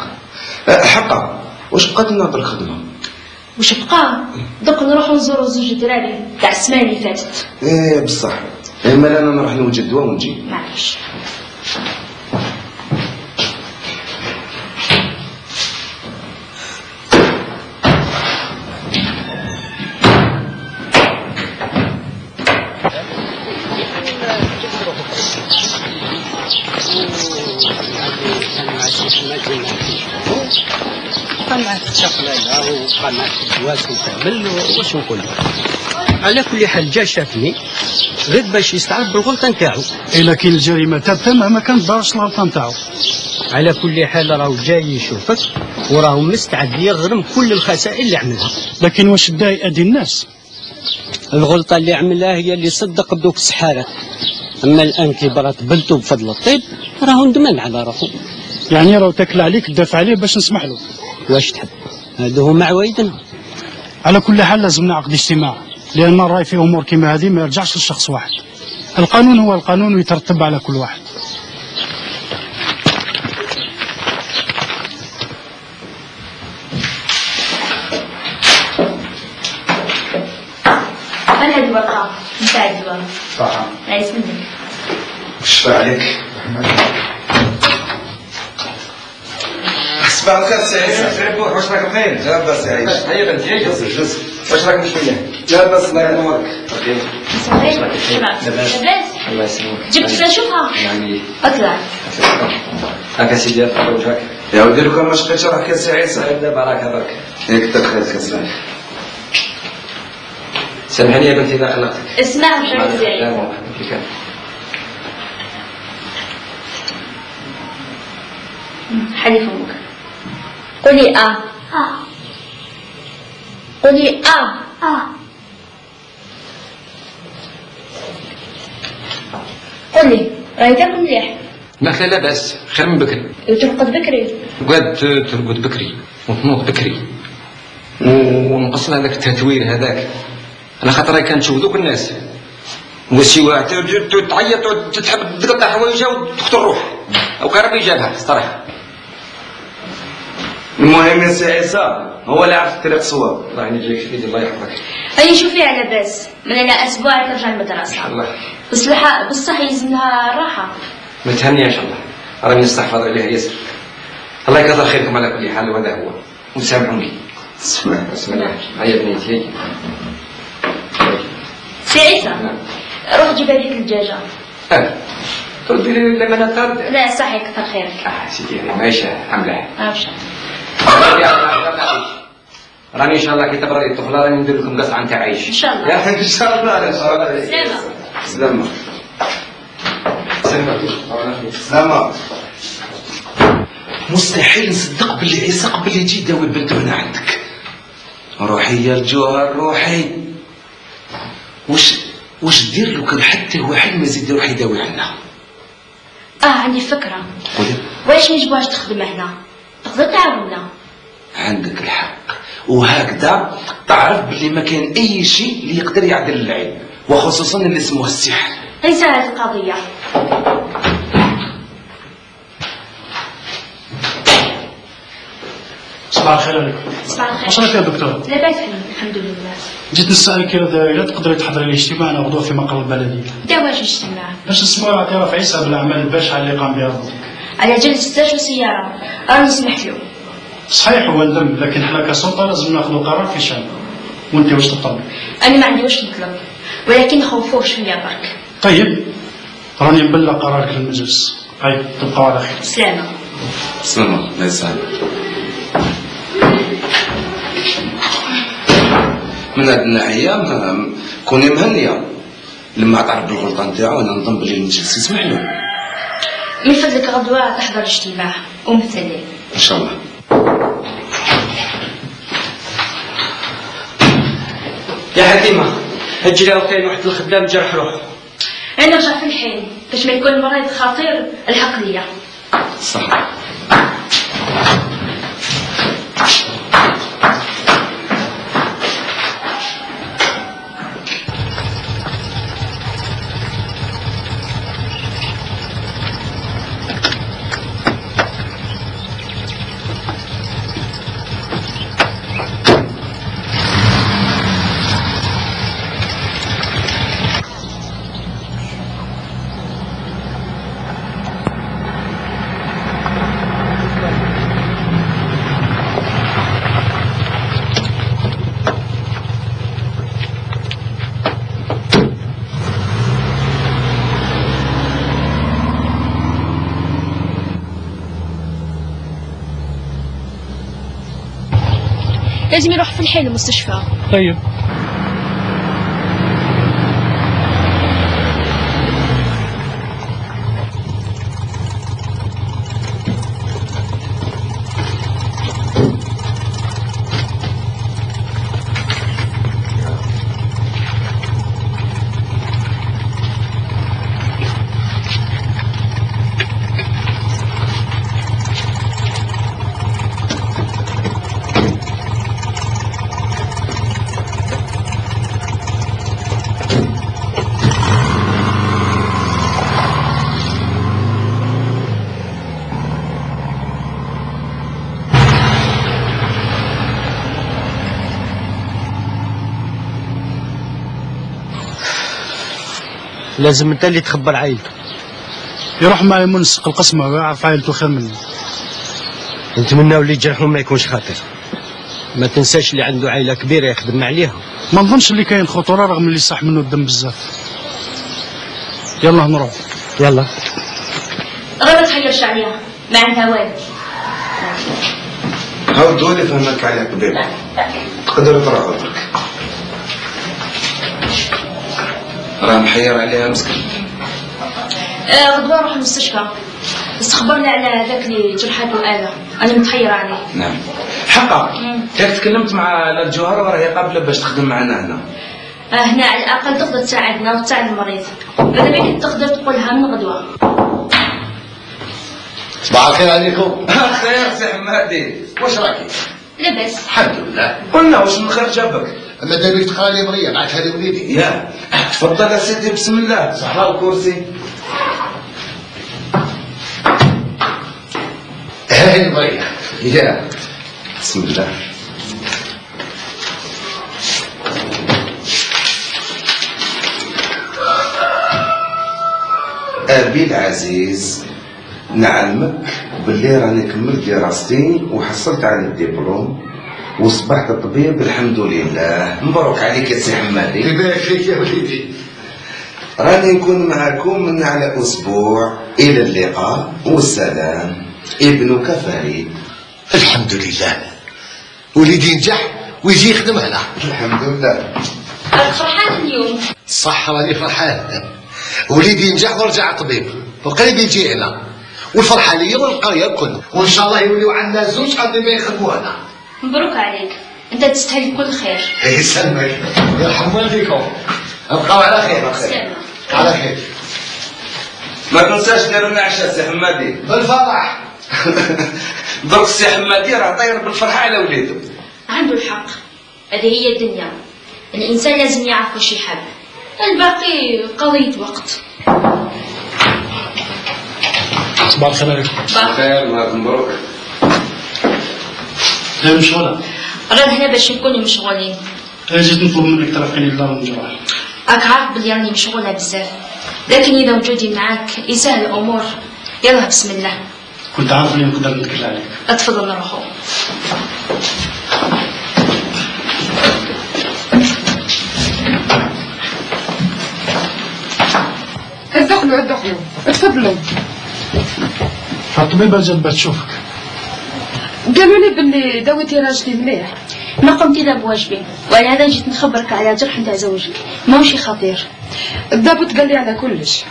حقا واش بقات لنا بالخدمه؟ وش بقى؟ دوك نروحو نزورو زوج دراري تاع السمانه اللي فاتت. ايه بصح اما انا نروح نوجد دواء ونجي. معليش. قناة الشقلالة وقناة الجواز وتعمل واش نقول لك. على كل حال جا شافني غير باش يستعرف بالغلطة نتاعو. إلا كاين الجريمة ثابتة مهما كانت دارش الغلطة نتاعو. على كل حال راهو جاي يشوفك وراهو مستعد يغرم كل الخسائر اللي عملها. لكن واش دا يأذي الناس؟ الغلطة اللي عملها هي اللي صدق بدوك السحارة. أما الآن كي برات بلتو بفضل الطيب راهو ندمان على روحو. يعني راهو تاكل عليك تدافع عليه باش نسمح له. واش تحب؟ هذا هو معوايدنا. على كل حال لازم نعقد اجتماع، لأن الرأي في أمور كما هذه ما يرجعش لشخص واحد. القانون هو القانون ويترتب على كل واحد. أنا هاد الورقة نتاع الدواء. صح. عايز منك. شفا عليك. صباح الخير سي عيسى. ربوح واش راك بخير؟ لاباس يا عيش. هيا بنتي هيا جلس. واش راك بشويه؟ لاباس الله ينورك. لاباس؟ الله يسلمك. جبت نشوفها. يعني اطلع. هاكا سيدي تفضل وجهك. يا ودي لو كان ما شقيتش راك يا سي عيسى. دابا راك برك. ياك كثر خيرك اسمعني. سامحني يا بنتي اذا خلقتك. اسمع مش عايز لا زعيم. مو كيف حلي فمك. قولي قولي قولي راهي تاكل مليح. لا لا بس خير من بكري. وترقد بكري. قد ترقد بكري وتنوض بكري ونقص هذاك التتوير هذاك. انا خاطر كان نشوف ذوك الناس وشي واحد تعيط وتحب تقطع حوايجها وتقتل الروح او كان ربي جابها صراحه. المهم يا سي عيسى هو اللي عرف الطريق صواب. الله ينجيك سيدي الله يحفظك. هيا شوفي على باس من هنا اسبوع ترجع المدرسه. الله بصح يلزمها الراحه. متهنيه ان شاء الله. راني نستحفظ عليها ياسر. الله يكثر خيركم على كل حال وهذا هو. وسامحوني. بسم الله. هيا بنيتي هيا. سي عيسى روح جيب هذيك الدجاجه. تردي لي لما نطرد. لا صحيح كثر خيرك. سيدي ماشي حمله. ماشي. راني ان شاء الله كي تبردي الطفله راني ندير لكم قصعه نتاع عيش. ان شاء الله. ان شاء الله ان شاء الله. سلامة. سلامة. مستحيل نصدق باللي عيسى قبل يجي يداوي بنته هنا عندك. روحي يا الجوهر روحي. واش دير لو كان حتى واحد ما يزيد يروح يداوي عنا؟ عندي فكرة. قولي. واش نجبوهاش تخدم هنا؟ تقدر تعاوننا. عندك الحق وهكذا تعرف باللي ما كان اي شيء اللي يقدر يعدل العين وخصوصا اللي اسمه السحر. ليس هذه القضية. صباح الخير عليكم. صباح الخير. واش راك يا دكتور؟ لاباس الحمد لله. جيت نسألك إذا تقدري تحضري لي اجتماع أنا غدوة في مقر البلدية. دواش اجتماع. باش نسمعوا اعتراف عيسى بالأعمال البشعة اللي قام بها ضدك. على جلسة وسيارة راني نسمح له. صحيح هو ندم لكن حنا كسلطة لازم ناخذ قرار في شأنه. وأنت واش تطلب؟ أنا ما عندي واش نطلب ولكن خوفوه شوية برك. طيب راني نبلغ قرارك للمجلس. طيب تبقوا على خير. سلامة. سلامة لا يسلمك. من هاد الناحية كوني مهنية لما تعرف بالغلطة نتاعو أنا نظن بلي المجلس يسمح له. من فضلك غدوة تحضر اجتماع ومثلي. إن شاء الله. يا حكيمة هجي له كاين واحد الخدام جرح روحه. أنا نرجع في الحين باش ما يكون المريض خطير الحق ليا. صح. لازم يروح في الحي المستشفى. طيب. لازم انت اللي تخبر عائلته. يروح معي منسق القسمة ويعرف عائلته خير مني. نتمنى اللي يجرحهم ما يكونش خاطر. ما تنساش اللي عنده عائلة كبيرة يخدم عليها. ما نظنش اللي كاين خطورة رغم اللي صح منه الدم بزاف. يلا نروح. يلا. غير ما تحيرش عليها، ما عندها والو. هاو الدول فهمك على قبيل. تقدر تروح برك. راه محير عليها مسكين. غدوة نروح المستشفى، بس خبرنا على ذاك اللي جرحته آلة، أنا متحيرة عليه. نعم. حقا. ياك تكلمت مع الجوهرة وراهي قابلة باش تخدم معنا هنا. هنا على الأقل تقدر تساعدنا وتساعد المريض. ماذا بيك تقدر تقولها من غدوة. صباح الخير عليكم. خير سي حمادي، واش راكي؟ لاباس. الحمد لله. قلنا واش من خير جابك؟ ماذا بيك تقرا لي مريم بعثها لي وليدي. يا تفضل يا سيدي بسم الله. صحراء الكرسي. هاي مريم. يا بسم الله. أبي العزيز، نعلمك باللي راني كملت دراستي وحصلت على الدبلوم وصبحت طبيب الحمد لله. مبروك عليك يا سي حمادي. يبارك فيك يا وليدي. راني نكون معكم من على أسبوع. إلى اللقاء والسلام. ابنك فريد. الحمد لله. وليدي ينجح ويجي يخدم هنا. الحمد لله. فرحان اليوم. صح راني فرحان. وليدي ينجح ورجع طبيب وقريب يجي هنا، والفرحة ليا والقرية الكل، وإن شاء الله يوليو عندنا زوج قادرين يخدموا هنا. مبروك عليك، أنت تستاهل كل خير. يسلمك. يرحم والديكم. ابقاو على خير. سلامة. على خير. ما تنساش دير لنا عشاء سي حمادي. بالفرح. درك السي حمادي راه طاير بالفرحة على وليدو. عنده الحق، هذه هي الدنيا، الإنسان لازم يعرف واش يحب، الباقي قضية وقت. صباح الخير عليكم. صباح الخير. مبروك. هي مشغولة. رانا هنا باش نكونوا مشغولين. جيت نطلب منك ترافقيني لدار الجراح. راك عارف بلي راني مشغولة بزاف، لكن إذا وجودي معاك يسهل الأمور. يلا بسم الله. كنت عارف اللي نقدر نتكل عليك. اتفضل نروحو. ادخلوا اتفضلوا. الطبيبة جات باش تشوفك. قالوا لي باللي داويتي راجلي مليح. ما قمت إلا بواجبي، ولهذا جيت نخبرك على جرح نتاع زوجك، ماهوش خطير. الضابط قال لي على كلش.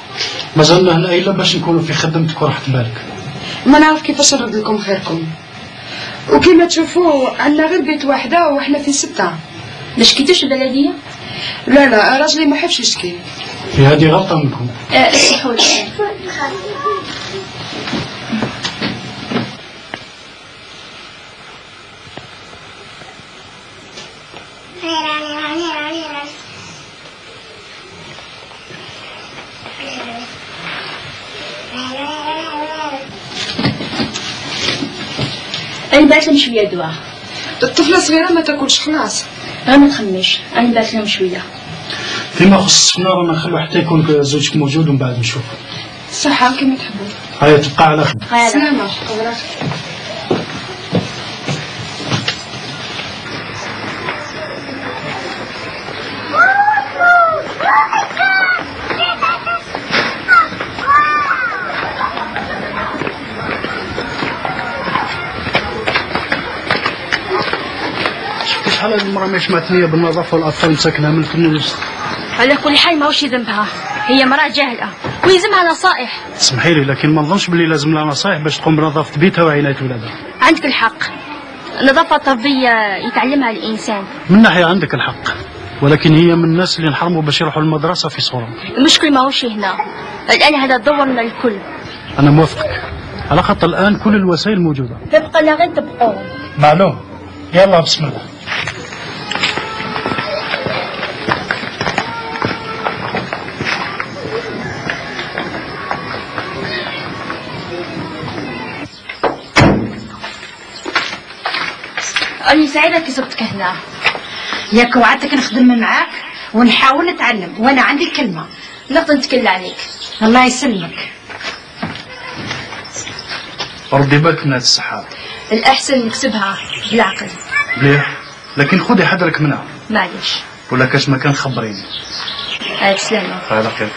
مازلنا هنا إلا باش نكونوا في خدمتك وراحة بالك. ما نعرف كيفاش نرد لكم خيركم. وكما تشوفوا عندنا غير بيت واحدة وإحنا في 6. ما شكيتوش البلدية؟ لا راجلي ما حبش يشكي. هذه غلطة منكم. اسمحوا لي. أنا بعت لهم شوية دواء. الطفلة صغيرة ما تاكلش خلاص. ما تخميش، أنا بعت لهم شوية. فيما يخص السفنة رانا نخلو حتى يكون زوجك موجود ومن بعد نشوف. صحة كما تحبوا. هيا تبقى على خير. سلامة. شحال هذه المرة ما سمعت ليا بالنظافة والأطفال مساكنها من الفن والوسط. على كل حال ماهوش ذنبها، هي مرأة جاهلة ويلزمها نصائح. اسمحي لي لكن ما نظنش باللي لازم لها نصائح باش تقوم بنظافة بيتها وعناية ولادها. عندك الحق، النظافة التربية يتعلمها الإنسان. من ناحية عندك الحق، ولكن هي من الناس اللي نحرموا باش يروحوا المدرسة في صورة. المشكل ماهوش هنا، الآن هذا دورنا الكل. أنا موافقك، على خاطر الآن كل الوسائل موجودة. تبقى لا غير تبقوا. معلوم. يلا بسم الله. أنا سعيدة كي زرتك هنا. ياك وعدتك نخدم معاك ونحاول نتعلم، وانا عندي كلمة نقدر نتكلم عليك. الله يسلمك. ردي بالك من هاد الصحة. الأحسن نكسبها بالعقل. مليح، لكن خذي حذرك منها. معليش. ولا كاش مكان خبريني. عليك سلامة. على خير.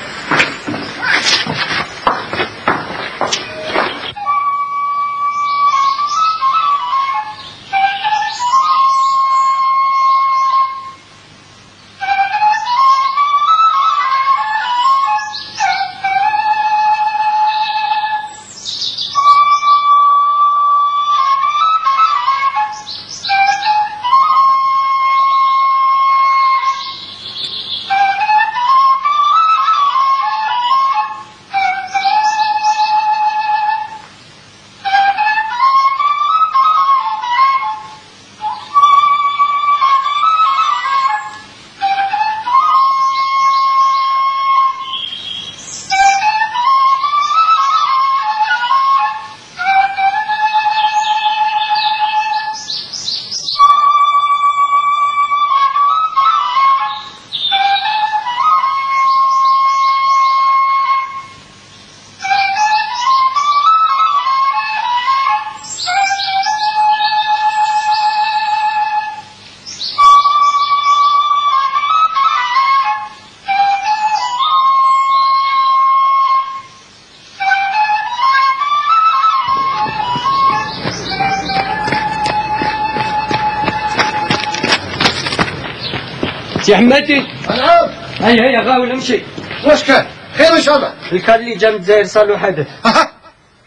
سي حماتي. نعم. هيا غاول امشي. واش كان؟ خير ان شاء الله. الكال اللي جا من الجزائر صار له حدث.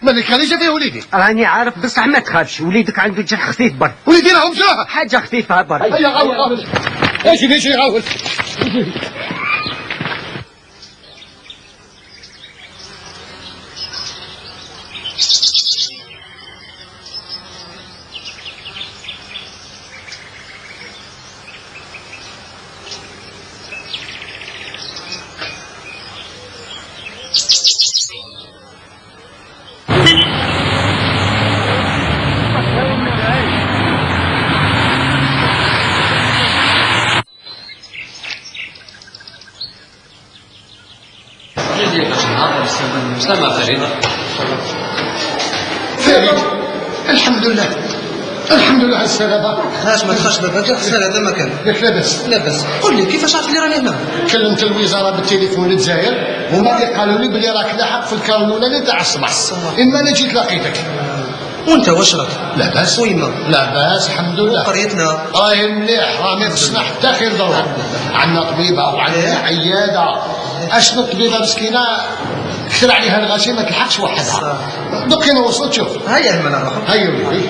من الكال اللي جا فيه وليدي؟ راني عارف بصح ما تخافش، وليدك عنده جرح خفيف برك. وليدي راهم جراح. حاجة خفيفة برك. هيا غاول. اجي غاول. سلامة فريدة. فريد الحمد لله الحمد لله على السلامة. علاش ما تخافش بابا؟ غسال هذا مكان. ياك لاباس؟ لاباس. قول لي كيفاش عرفت اللي راني هنا؟ كلمت الوزارة بالتليفون للجزائر هما اللي قالوا لي بلي راك لاحق في الكار الاولاني تاع الصباح. اما انا جيت لقيتك. وانت واش راك؟ لاباس. ويما؟ لاباس الحمد لله. قريتنا راهي مليح، راه ما خصنا حتى خير ضروري. عندنا طبيبة وعندنا عيادة. اشنو الطبيبة مسكينة كثر عليها الغاشي ما تلحقش وحدها. دوك انا وصلت شوف. هيا هما نروحو. هيا وليدي.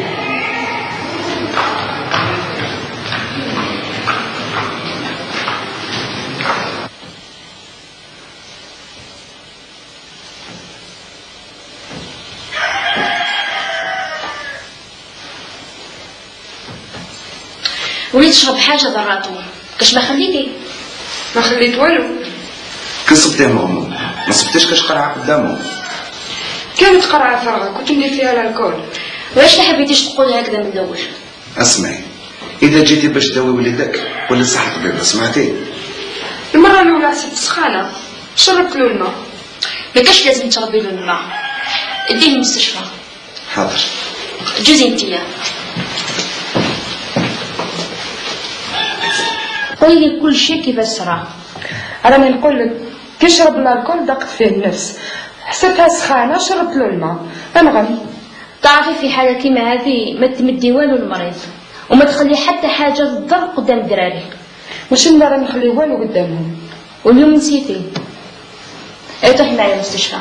وليت تشرب حاجة ضراتو، كاش ما خليتي؟ ما خليت والو. كنصبتيه مغمض، ما صبتيش كاش قرعة قدامه. كانت قرعة فارغة كنت ندير فيها الكول. وعلاش ما حبيتيش تقول هكذا من الأول؟ اسمعي، إذا جيتي باش تداوي وليدك ولا صحة طبيبة سمعتي؟ المرة الأولى عسيت سخانة شربت له الماء. ما كاش لازم تشربي له الماء، اديه للمستشفى. حاضر. جوزي انتيا. قولي لي كل شيء كيفاش صرا. راني نقول لك كي شرب الكول ضاقت فيه النفس، حسيتها سخانة شربت له الماء. انغم. تعرفي في حالة كيما هذه ما تمدي والو المريض. وما تخلي حتى حاجة تضر قدام الدراري. واش لا راه نخلي والو قدامهم. واليوم نسيتي. اي طيح معايا المستشفى.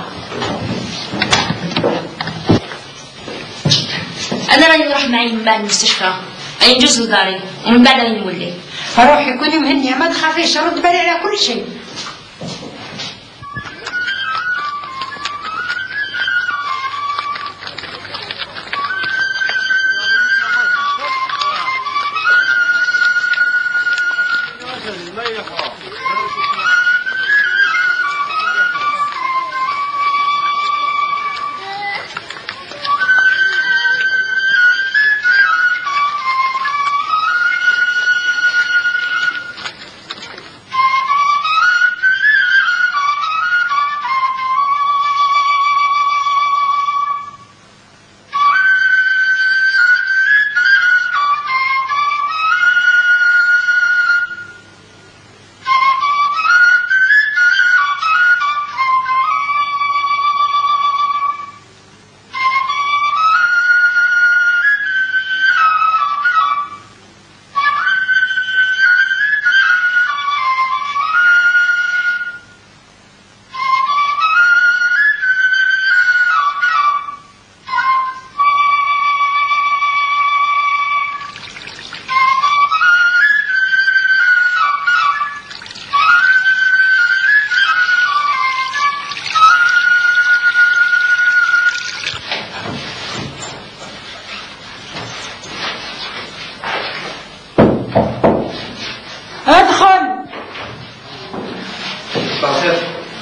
انا راني نروح معي من بعد المستشفى، راني نجوز لداري ومن بعد راني نولي. روحي كوني مهنيه ما تخافيش، رد بالي على كل شيء. ادخل.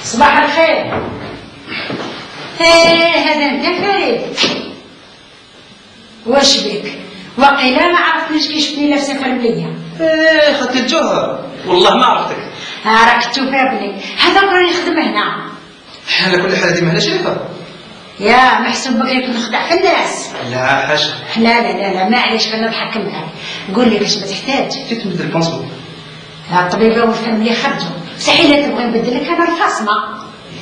صباح الخير. هذا انت فريد؟ واش بك؟ وقيلا ما عرفتنيش كي شفتني لابسه فرمليه. خدت الجوهر والله ما عرفتك. راك تفابني، هذا راني نخدم هنا. على كل حال هذه مهنه شريفه. يا محسوب بك يكون نخدع في الناس. لا حاشا. لا معليش غنضحك معاك. قول لي واش بتحتاج؟ كيف نبدل البونسون؟ الطبيبه والفاميلي خرجوا، مستحيل تبغي نبدل لك انا الفاصمه.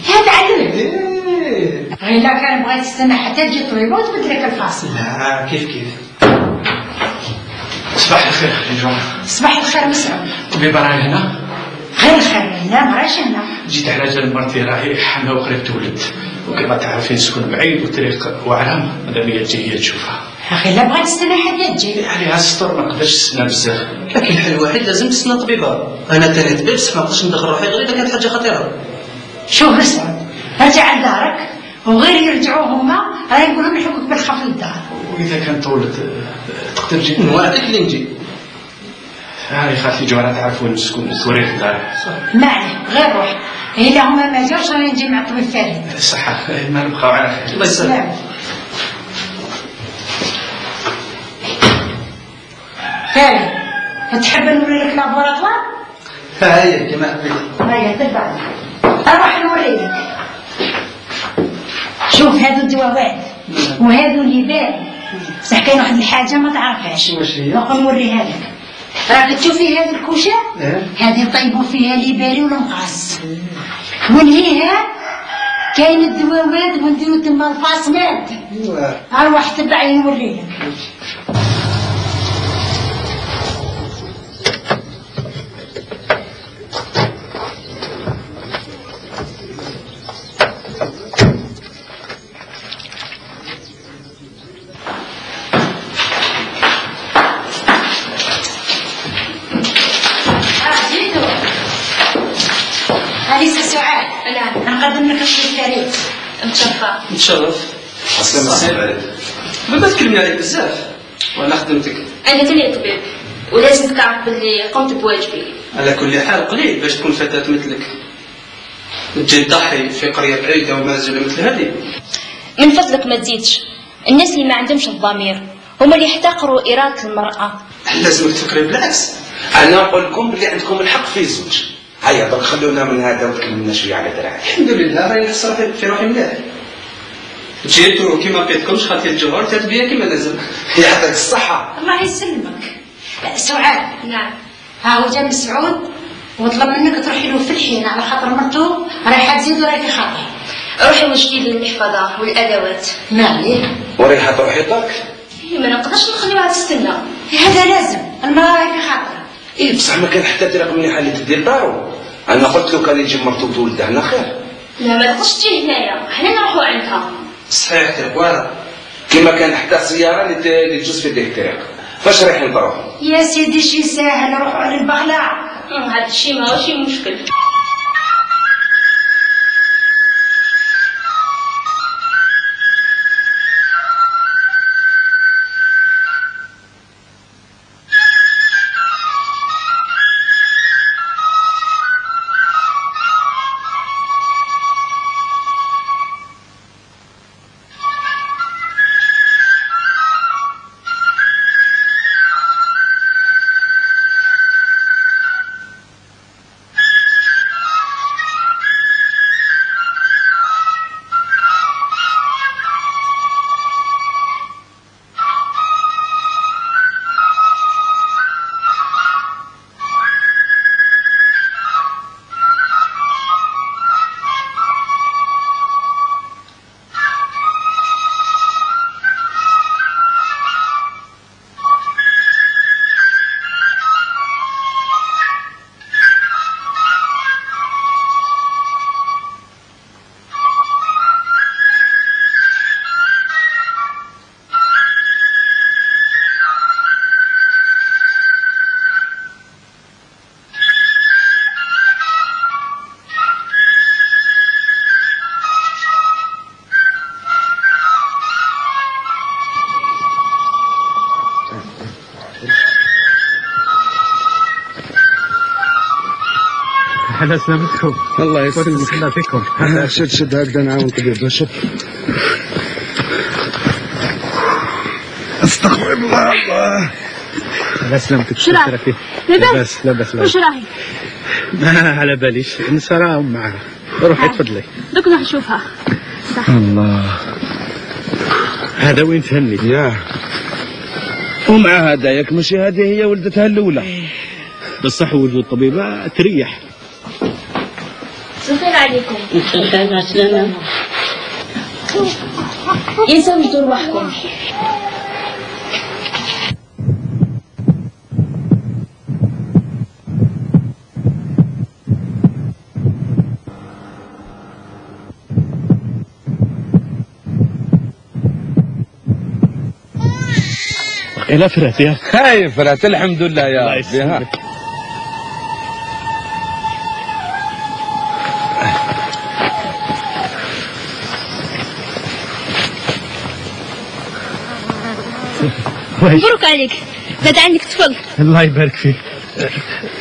هذا علم. غير لا كان بغيت تستنى حتى تجي الطبيبه وتبدل لك الفاصمه. لا كيف. صباح الخير يا جماعه. صباح الخير مسعود. الطبيبه راهي هنا؟ غير الخير هنا ما راهيش هنا. جيت على جال مرتي راهي حامله وقريب تولد، وكما تعرفين سكون بعيد والطريق وعرام، مادام هي تجي هي تشوفها. اخي لا بغيت تستنى حتى تجي. عليها السطر ما نقدرش نستنى بزاف. لكن الحل الوحيد لازم تستنى طبيبه. انا تاني طبيب بصح ما نقدرش ندخل روحي غير اذا كانت حاجه خطيره. شوف مسعود، رجع لدارك وغير يرجعوا هما راه نقول لهم يحكوك بالخف للدار. واذا كان طولت تقدر تجي؟ نوعدك اللي نجي. هاي خالتي جوهره تعرف وين نسكن، توريك الدار. ما عليه غير روح، الا هما ما جاوش راني نجي مع الطبيب فريد. صحه ما نبقاو على خير. الله يسلمك. فريد تحب نوري لك لابوراتوار؟ هاي كما حبيت. هيا تبعني اروح نوري لك. شوف هادو الدواوات وهادو اللي بارد، بصح كاين واحد الحاجه ما تعرفهاش. واش هي؟ نقول نوريها لك. راك تشوفي هذه الكوشه؟ هذه طيبوا فيها ليباري والمقاص. ونهيها كاين الدواوات ونديرو تما الفاصمات. اروح تبعي نوريلك. أليس سعاد؟ نعم. نقدم لك الشيء فريد. نتشرف. السلام عليكم. ما تكلمني عليك بزاف وانا خدمتك. انا تاني طبيب ولازم تعرف باللي قمت بواجبي. على كل حال قليل باش تكون فتاة مثلك تجي تضحي في قرية بعيدة ومنزلة مثل هذه. من فضلك ما تزيدش، الناس اللي ما عندهمش الضمير هما اللي يحتقروا إرادة المرأة. لازمك تفكري بالعكس. انا نقول لكم بلي عندكم الحق في الزوج. هيا درك خلونا من هذا وتكلمنا شويه على دراعي. الحمد لله راني نحس في روحي مليح. جيتو كيما بقيتكمش خاطر الجوهر تتبيا كيما لازم. يعطيك الصحة. الله يسلمك. سعاد. نعم. ها هو جا مسعود وطلب منك تروحي له في الحين على خاطر مرتو رايحه تزيد وراهي في خاطر. روحي وجدي لي المحفظة والأدوات. ما عليه. وريحة تروحي درك؟ ما نقدرش نخليوها تستنى. هذا لازم المراه راهي في خاطر. ايه بصح ما كان حتى طريق مليحه اللي تدير دارو. انا قلت له كان يجي مرته وولده هنا خير. لا ما تقدرش تجي هنايا، حنا نروحوا عندها. صحيح تركوارا كما كان حتى سياره اللي تجوز في ديك الطريق. فاش رايحين نروحوا؟ يا سيدي شي ساهل نروحوا على البغلاء. هذا الشيء ماشي مشكل. على سلامتكم. الله يسلمك. الله فيكم. شد هكذا نعاون طبيب. شد. استغفر الله. على سلامتك. شراه لاباس لاباس. واش راهي؟ ما على باليش نسراهم معها. روحي تفضلي. دوك نروح نشوفها. الله هذا وين تهني ياه ومع هذا ياك ماشي هذه هي ولدتها الاولى بصح ولد الطبيبه تريح. الخير عليكم. الخير عسلامة. ينسوا يدوا رواحكم. إلى فرات يا هاي فرات الحمد لله يا ربي. ها مبروك عليك زاد عندك طفل. الله يبارك فيك.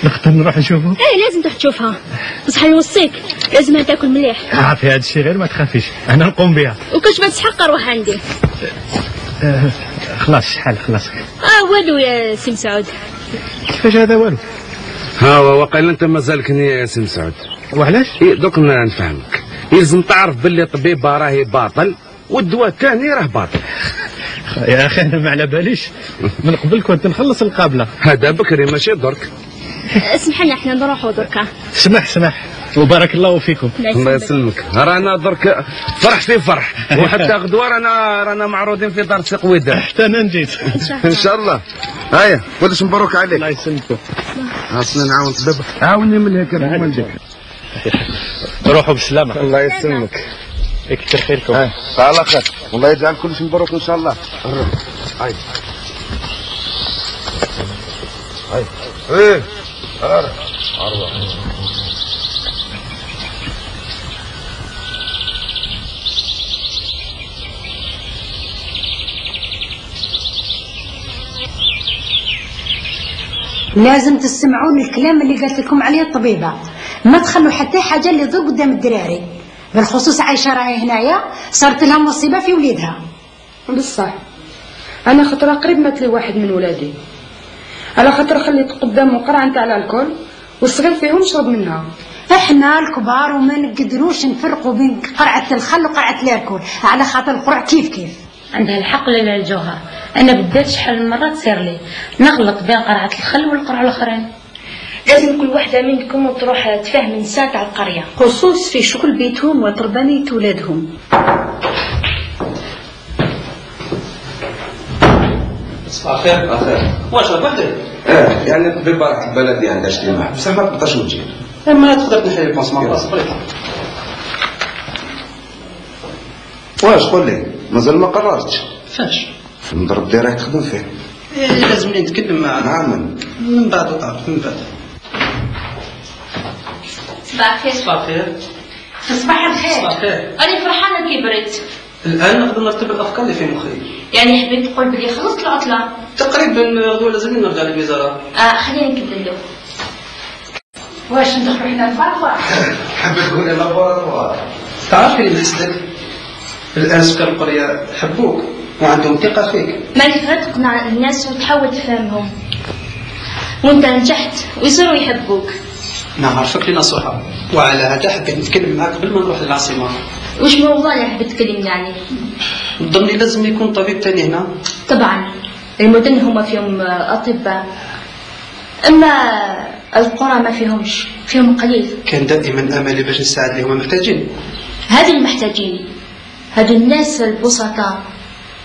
نقدر نروح نشوفه؟ ايه لازم تروح تشوفها بصح نوصيك لازم تاكل مليح. عافي هذا الشيء غير ما تخافيش انا نقوم بها. وكاش ما تسحق روح عندي. خلاص شحال خلاص. والو يا سي مسعود. كيفاش هذا والو؟ ها وقيل انت مازالك نية يا سي مسعود. وعلاش؟ دوك نفهمك. يلزم تعرف باللي الطبيبه راهي باطل والدواء الثاني راه باطل. يا اخي انا ما على باليش من قبل كنت نخلص القابله. هذا بكري ماشي درك. اسمحنا احنا نروحوا دركا. سمح وبارك الله فيكم. الله يسلمك. رانا درك فرح في فرح وحتى غدوه رانا معروضين في دار سيق وداع. حتى انا نجيت ان شاء الله. هيا كلش مبروك عليك. الله يسلمكم. اصلا نعاون دابا عاوني من هيك نجيك. روحوا بالسلامه. الله يسلمك. يكثر خيركم. على خير والله يجعل كلش مبروك ان شاء الله. هاي ايه لازم تسمعوا الكلام اللي قالت لكم عليه الطبيبه، ما تخلوا حتى حاجه اللي تضر قدام الدراري، بالخصوص عايشه راهي هنايا صارت لها مصيبه في وليدها. بصح انا خطره قريب مات لي واحد من ولادي على خاطر خليت قدامه قرعه نتاع الكول والصغير فيهم شرب منها. احنا الكبار وما نقدروش نفرقوا بين قرعه الخل وقرعه الكول على خاطر القرع كيف عندها الحق ليلى الجوهر. انا بالذات شحال من مره تصير لي نغلط بين قرعه الخل والقرعه الاخرين. لازم كل واحدة منكم تروح تفهم نساء تاع القرية خصوص في شغل بيتهم وتربانية ولادهم. صباح الخير. اخير واش راك وحدك؟ يعني الطبيبه راح البلدي عندها اجتماع بصح ما تقدرش تجي. ما تقدر تنحي لي البونسمون صبري. واش قول لي مازال ما قررتش؟ فاش؟ في المضرب دي راك تخدم فيه. لازمني نتكلم مع من بعد تعرف من بعد. صباح الخير. صباح الخير. صباح الخير. صباح الخير. أنا فرحانة كي بريت. الآن نقدر نرتب الأفكار اللي في مخي. يعني حبيت تقول بلي خلصت العطلة؟ تقريبا غدوة لازم نرجع للوزارة. خلينا نكمل له. واش ندخلوا حنا الفرقة؟ حبيت تقولي لابوراتوار. تعرفي اللي نحسدك؟ الآن سكان القرية حبوك وعندهم ثقة فيك. مالك غير تقنع الناس وتحاول تفهمهم. وانت نجحت ويصيروا يحبوك. نعرفك لنصيحة وعلى هذا حبيت نتكلم معك قبل ما نروح للعاصمة. وش موضوع اللي حبيت تكلمني عليه؟ نظني لازم يكون طبيب تاني هنا. طبعا المدن هما فيهم أطباء، أما القرى ما فيهم قليل. كان دائما أملي باش نساعد اللي هما محتاجين. هذو المحتاجين هذو الناس البسطاء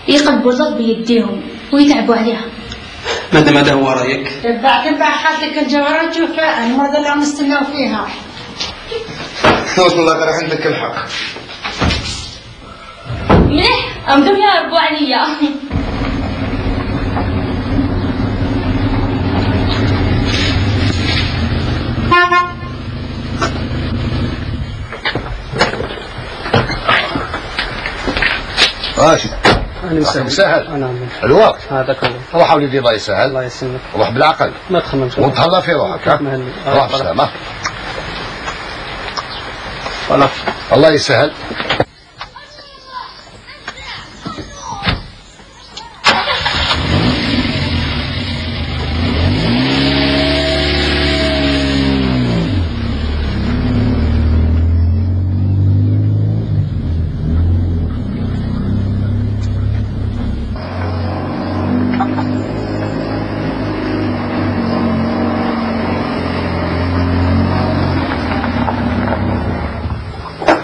يقلبوا الأرض بيديهم ويتعبوا عليها. مادام هذا هو رايك. تبع خالتك الجوهرة تشوفها المرضى اللي عم نستناو فيها. والله غير عندك الحق. مليح أمدوا يا ربو عليا. ماشي سهل الوقت هذاك هو. روح وليدي الله يسهل. الله يسلمك. روح بالعقل ما تخممش وتهلا في روحك. روح بسلامة. الله يسهل.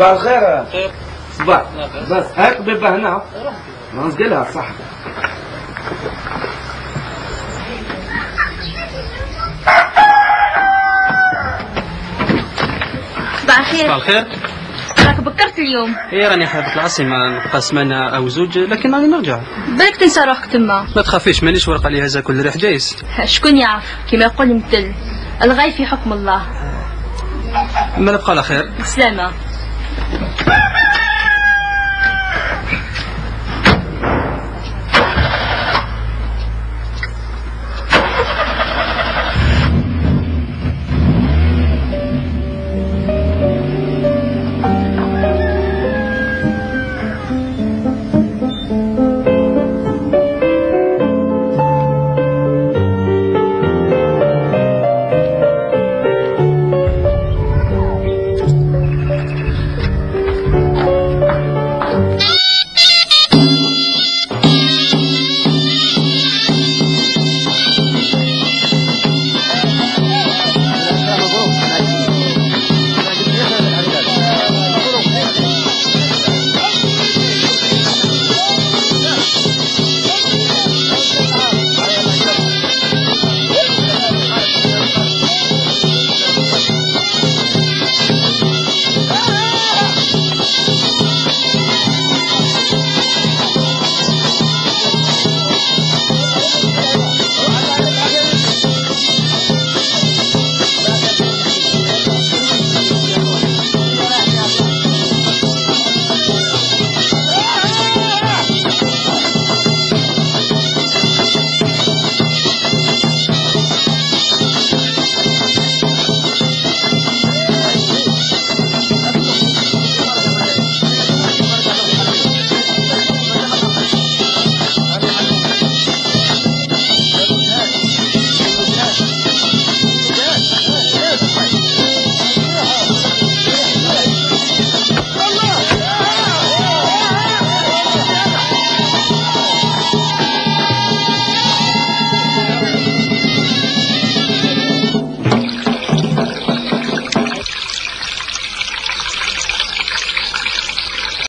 صباح الخير. صباح بس هاك بيبه هنا نسقلها صح. صباح الخير. صباح الخير. راك بكرت اليوم. ايه راني حابة العاصمة نبقى سمانة أو زوج لكن راني نرجع. بالك تنسى روحك تما. ما تخافيش مانيش ورقة لي هذا كل ريح جايز. شكون يعرف كما يقول المثل الغايب في حكم الله. ما نبقى على خير. سلامة.